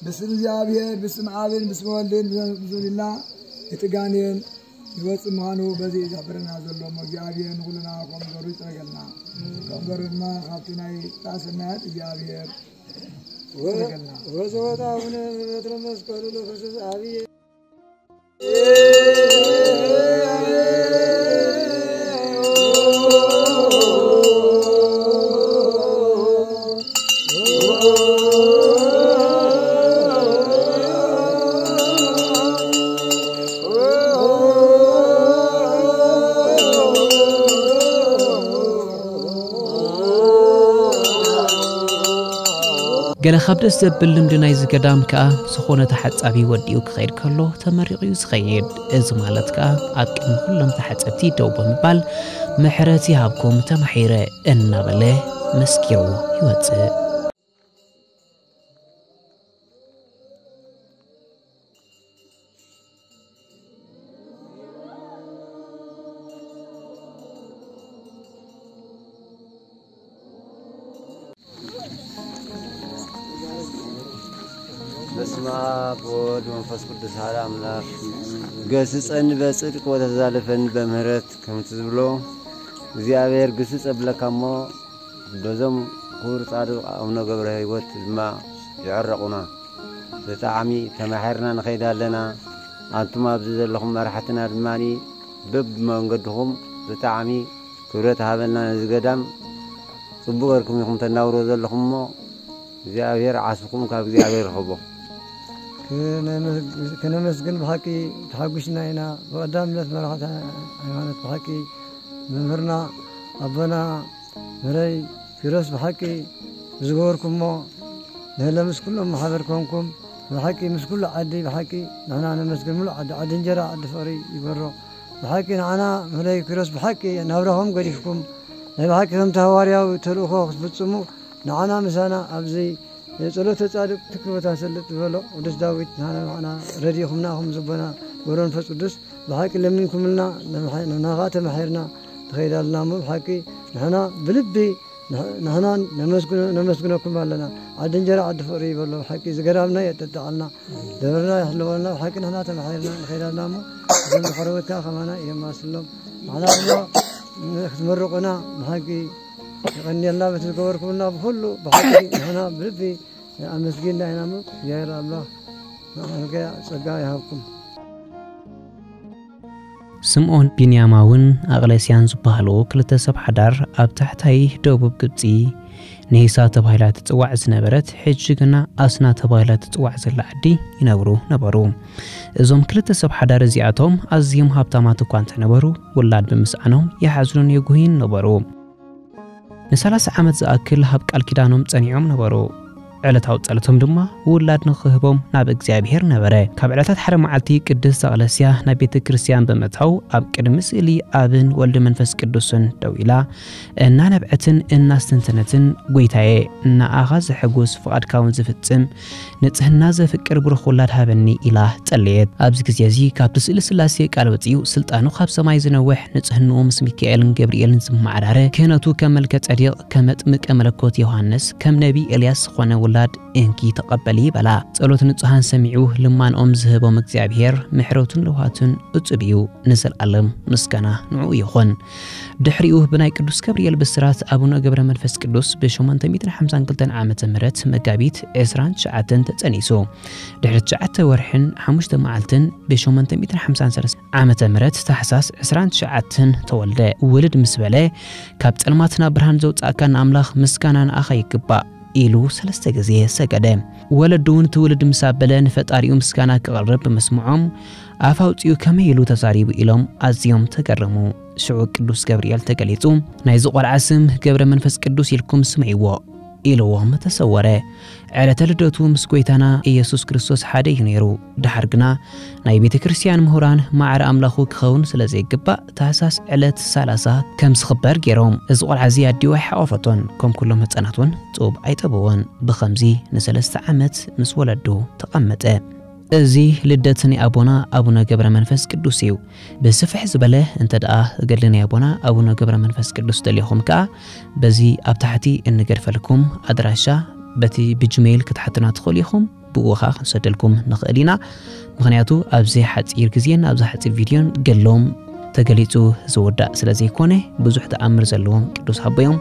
ብስም እግዚኣብሔር ብስም ኣብን ብስም ወልድን ብመንፈስ ቅዱስን ኢልና እቲ ጋኔን ይወፅእ ምዃኑ በዚ እዩ ዝሕብረና ዘሎ እሞ እግዚኣብሔር ንኩልና ከም ገሩ ይፅረገልና። ከም ገሩ ድማ ካብቲ ናይ ጣሰናያት እግዚኣብሔር ይፅረገልና። ወዘወት ኣቡነ በትረ መስቀሉ ለክርስቶስ ኣብየ። ገለ ካብ ደስ ዘብል ልምዲ ናይዚ ገዳም ከኣ፣ ዝኾነ ተሓጻቢ ወዲኡ ክኸይድ ከሎ ተመሪቑ እዩ ዝኸይድ። እዚ ማለት ከኣ፣ ኣብ ቅድሚ ኩሎም ተሓጸብቲ ደው ብምባል፣ "ምሕረት ይሃብኩም፣ ተማሒረ" እናበለ መስኪሩ ይወጽእ። በስመ አብ ወወልድ ወመንፈስ ቅዱስ አሐዱ አምላክ። ገስጸኒ በጽድቅ ወተዛለፈኒ በምህረት ከምቲ ዝብሎ እግዚኣብሔር ግስጽ የብለካ እሞ በዞም ክቡር ጻድቕ ኣቡነ ገብረ ህይወት ድማ ይዕረቑና። ብጣዕሚ ተማሒርና ንኸይድ ኣለና። ኣንቱም ኣብዚ ዘለኹም መራሕትና ድማ በብመንገድኹም ብጣዕሚ ክብረት ሃበልና። ነዚ ገዳም ጽቡቕ ጌርኩም ኢኹም ተናብሮ ዘለኹም እሞ እግዚኣብሔር ዓስብኹም ካብ እግዚኣብሔር ርኸቦ። ክነመስ-፣ ክነመስግን ብሓቂ ተሓጒስና ኢና። ብቐዳምነት መራሕቲ ሃይማኖት ብሓቂ መምህርና ኣቦና መረይ ኪሮስ ብሓቂ ዝገበርኩሞ ንህለ ምስ ኩሎም ማሕበር ኮንኩም ብሓቂ ምስ ኩሉ ዓዲ ብሓቂ ንሕና ነመስግን። ሙሉእ ዓዲ፣ ዓዲ እንጀራ፣ ዓዲ ፍቕሪ ይግበሮ። ብሓቂ ንዓና መረይ ኪሮስ ብሓቂ ናብራኹም ገዲፍኩም ናይ ብሓቂ ከምቲ ሃዋርያዊ ተልእኾ ክትፍጽሙ ንዓና ምሳና ኣብዚ ጸሎተ ጻድቅ ትክል ቦታ ሰልጥ ዝበሎ ቅዱስ ዳዊት ንዓና ንዓና ረዲኹምና፣ ኹም ዝቦና ገብረ መንፈስ ቅዱስ ብሓቂ ለሚንኩምልና፣ ንኻ ተማሒርና ንኸይድ ኣለና እሞ ብሓቂ ንሕና ብልቢ ንሕ- ንሕና ነመስግኖ- ነመስግነኩም ኣለና። ዓዲ እንጀራ ዓዲ ፍቕሪ ይበሎ። ብሓቂ ዝገዳምና የጠጣዓልና፣ ደብርና ይሕልወልና። ብሓቂ ንሕና ተማሒርና ንኸይድ ኣለና እሞ እዞም ዝኸረወትካ ከማና የማስሎም። ንሕና ድማ ክትምርቑና ብሓቂ የቐንየልና። በቲ ዝገበርኩምና ብኹሉ ብሓቂ ንሕና ብልቢ ኣመስጊንና ኢና እሞ እግዚኣብሔር ኣምላኽ ንዓንከ ጸጋ ይሃብኩም። ስምዖን ቢንያማውን ኣቕለስያን ዝበሃሉ ክልተ ሰብ ሓዳር ኣብ ታሕታይ ደቡብ ግብፂ፣ ንሂሳ ተባሂላ ትፅዋዕ ዝነበረት፣ ሕጂ ግና ኣስና ተባሂላ ትፅዋዕ ዘላ ዓዲ ይነብሩ ነበሩ። እዞም ክልተ ሰብ ሓዳር እዚኣቶም ኣዝዮም ሃብታማት እኳ እንተነበሩ፣ ውላድ ብምስኣኖም ይሓዝኑን የጉህዩን ነበሩ። ንሰላሳ ዓመት ዝኣክል ኣብ ቃል ኪዳኖም ጸኒዖም ነበሩ። ዕለታዊ ጸሎቶም ድማ ውላድ ንኽህቦም ናብ እግዚኣብሔር ነበረ። ካብ ዕለታት ሓደ መዓልቲ ቅድስት ኣቕለስያ ናብ ቤተ ክርስቲያን ብምእታው ኣብ ቅድሚ ስእሊ ኣብን ወልድ መንፈስ ቅዱስን ደው ኢላ እናነብዐትን እናስተንተነትን፣ "ጐይታዬ፣ ንኣኻ ዘሐጉስ ፍቓድካ እውን ዝፍጽም ንጽህና ዘፍቅር ብሩኽ ውላድ ሃበኒ" ኢላ ጸለየት። ኣብዚ ግዜ እዚ ካብቲ ስእሊ ስላሴ ቃል ወጺኡ ስልጣኑ ካብ ሰማይ ዝነውሕ ንጽህንኡ ምስ ሚካኤልን ገብርኤልን ዝመዓራረ ክህነቱ ከም መልከ ጸዲቕ ከም መጥምቀ መለኮት ዮሃንስ ከም ነቢ ኤልያስ ዝኾነ ውላድ እንኪ ተቐበሊ በላ። ጸሎት ንጹሃን ሰሚዑ ልማንኦም ዝህቦም እግዚኣብሔር ምሕረቱን ለውሃቱን እጹብ እዩ። ንዘለኣለም ምስጋና ንዕኡ ይኹን። ድሕሪኡ ብናይ ቅዱስ ገብርኤል ብስራት ኣቡነ ገብረ መንፈስ ቅዱስ ብ852 ዓመተ ምህረት መጋቢት ዕስራን ትሽዓተን ተጸኒሱ። ድሕሪ ትሽዓተ ወርሕን ሓሙሽተ መዓልትን ብ853 ዓመተ ምህረት ታሕሳስ ዕስራን ትሽዓተን ተወልደ። ውልድ ምስ በለ፣ "ካብ ጸልማት ናብ ብርሃን ዘውጻእካ ንኣምላኽ ምስጋና ንኣኻ ይግባእ" ኢሉ ሰለስተ ግዜ ሰገደ። ወለዱ እውን ትውልድ ምስ ኣበለ ንፈጣሪኡ ምስጋና ክቕርብ ብምስምዖም፣ ኣፍ ኣውጺኡ ከመይ ኢሉ ተዛሪቡ ኢሎም ኣዝዮም ተገረሙ። ሽዑ ቅዱስ ገብርኤል ተገሊጹ፣ "ናይዚ ቆልዓ ስም ገብረ መንፈስ ቅዱስ ኢልኩም ስመይዎ" ኢልዎም ተሰወረ። ዕለተ ልደቱ ምስ ጐይታና ኢየሱስ ክርስቶስ ሓደ እዩ ነይሩ። ደሓር ግና ናይ ቤተ ክርስቲያን ምሁራን ማዕረ ኣምላኹ ክኸውን ስለ ዘይግባእ ታሕሳስ ዕለት ሰላሳ ከም ዝኽበር ገይሮም። እዚ ቆልዓ እዚ ኣዲኡ ኣይሓቆፈቶን፣ ከም ኩሎም ህጻናት እውን ጡብ ኣይጠበወን። ብኸምዚ ንሰለስተ ዓመት ምስ ወለዱ ተቐመጠ። እዚ ልደት ናይ ኣቦና ኣቡነ ገብረ መንፈስ ቅዱስ እዩ። ብስፍሕ ዝበለ እንተ ደኣ ገድሊ ናይ ኣቦና ኣቡነ ገብረ መንፈስ ቅዱስ ደሊኹም ከኣ በዚ ኣብ ታሕቲ እንገድፈልኩም ኣድራሻ በቲ ብጂሜይል ክትሓቱና ትኽእሉ ኢኹም። ብኡ ኸኣ ክንሰደልኩም ንኽእል ኢና። ምኽንያቱ ኣብዚ ሓጺር ግዜን ኣብዚ ሓጺር ቪድዮን ገድሎም ተገሊጹ ዝውዳእ ስለ ዘይኮነ፣ ብዙሕ ተኣምር ዘለዎም ቅዱስ ኣቦ እዮም።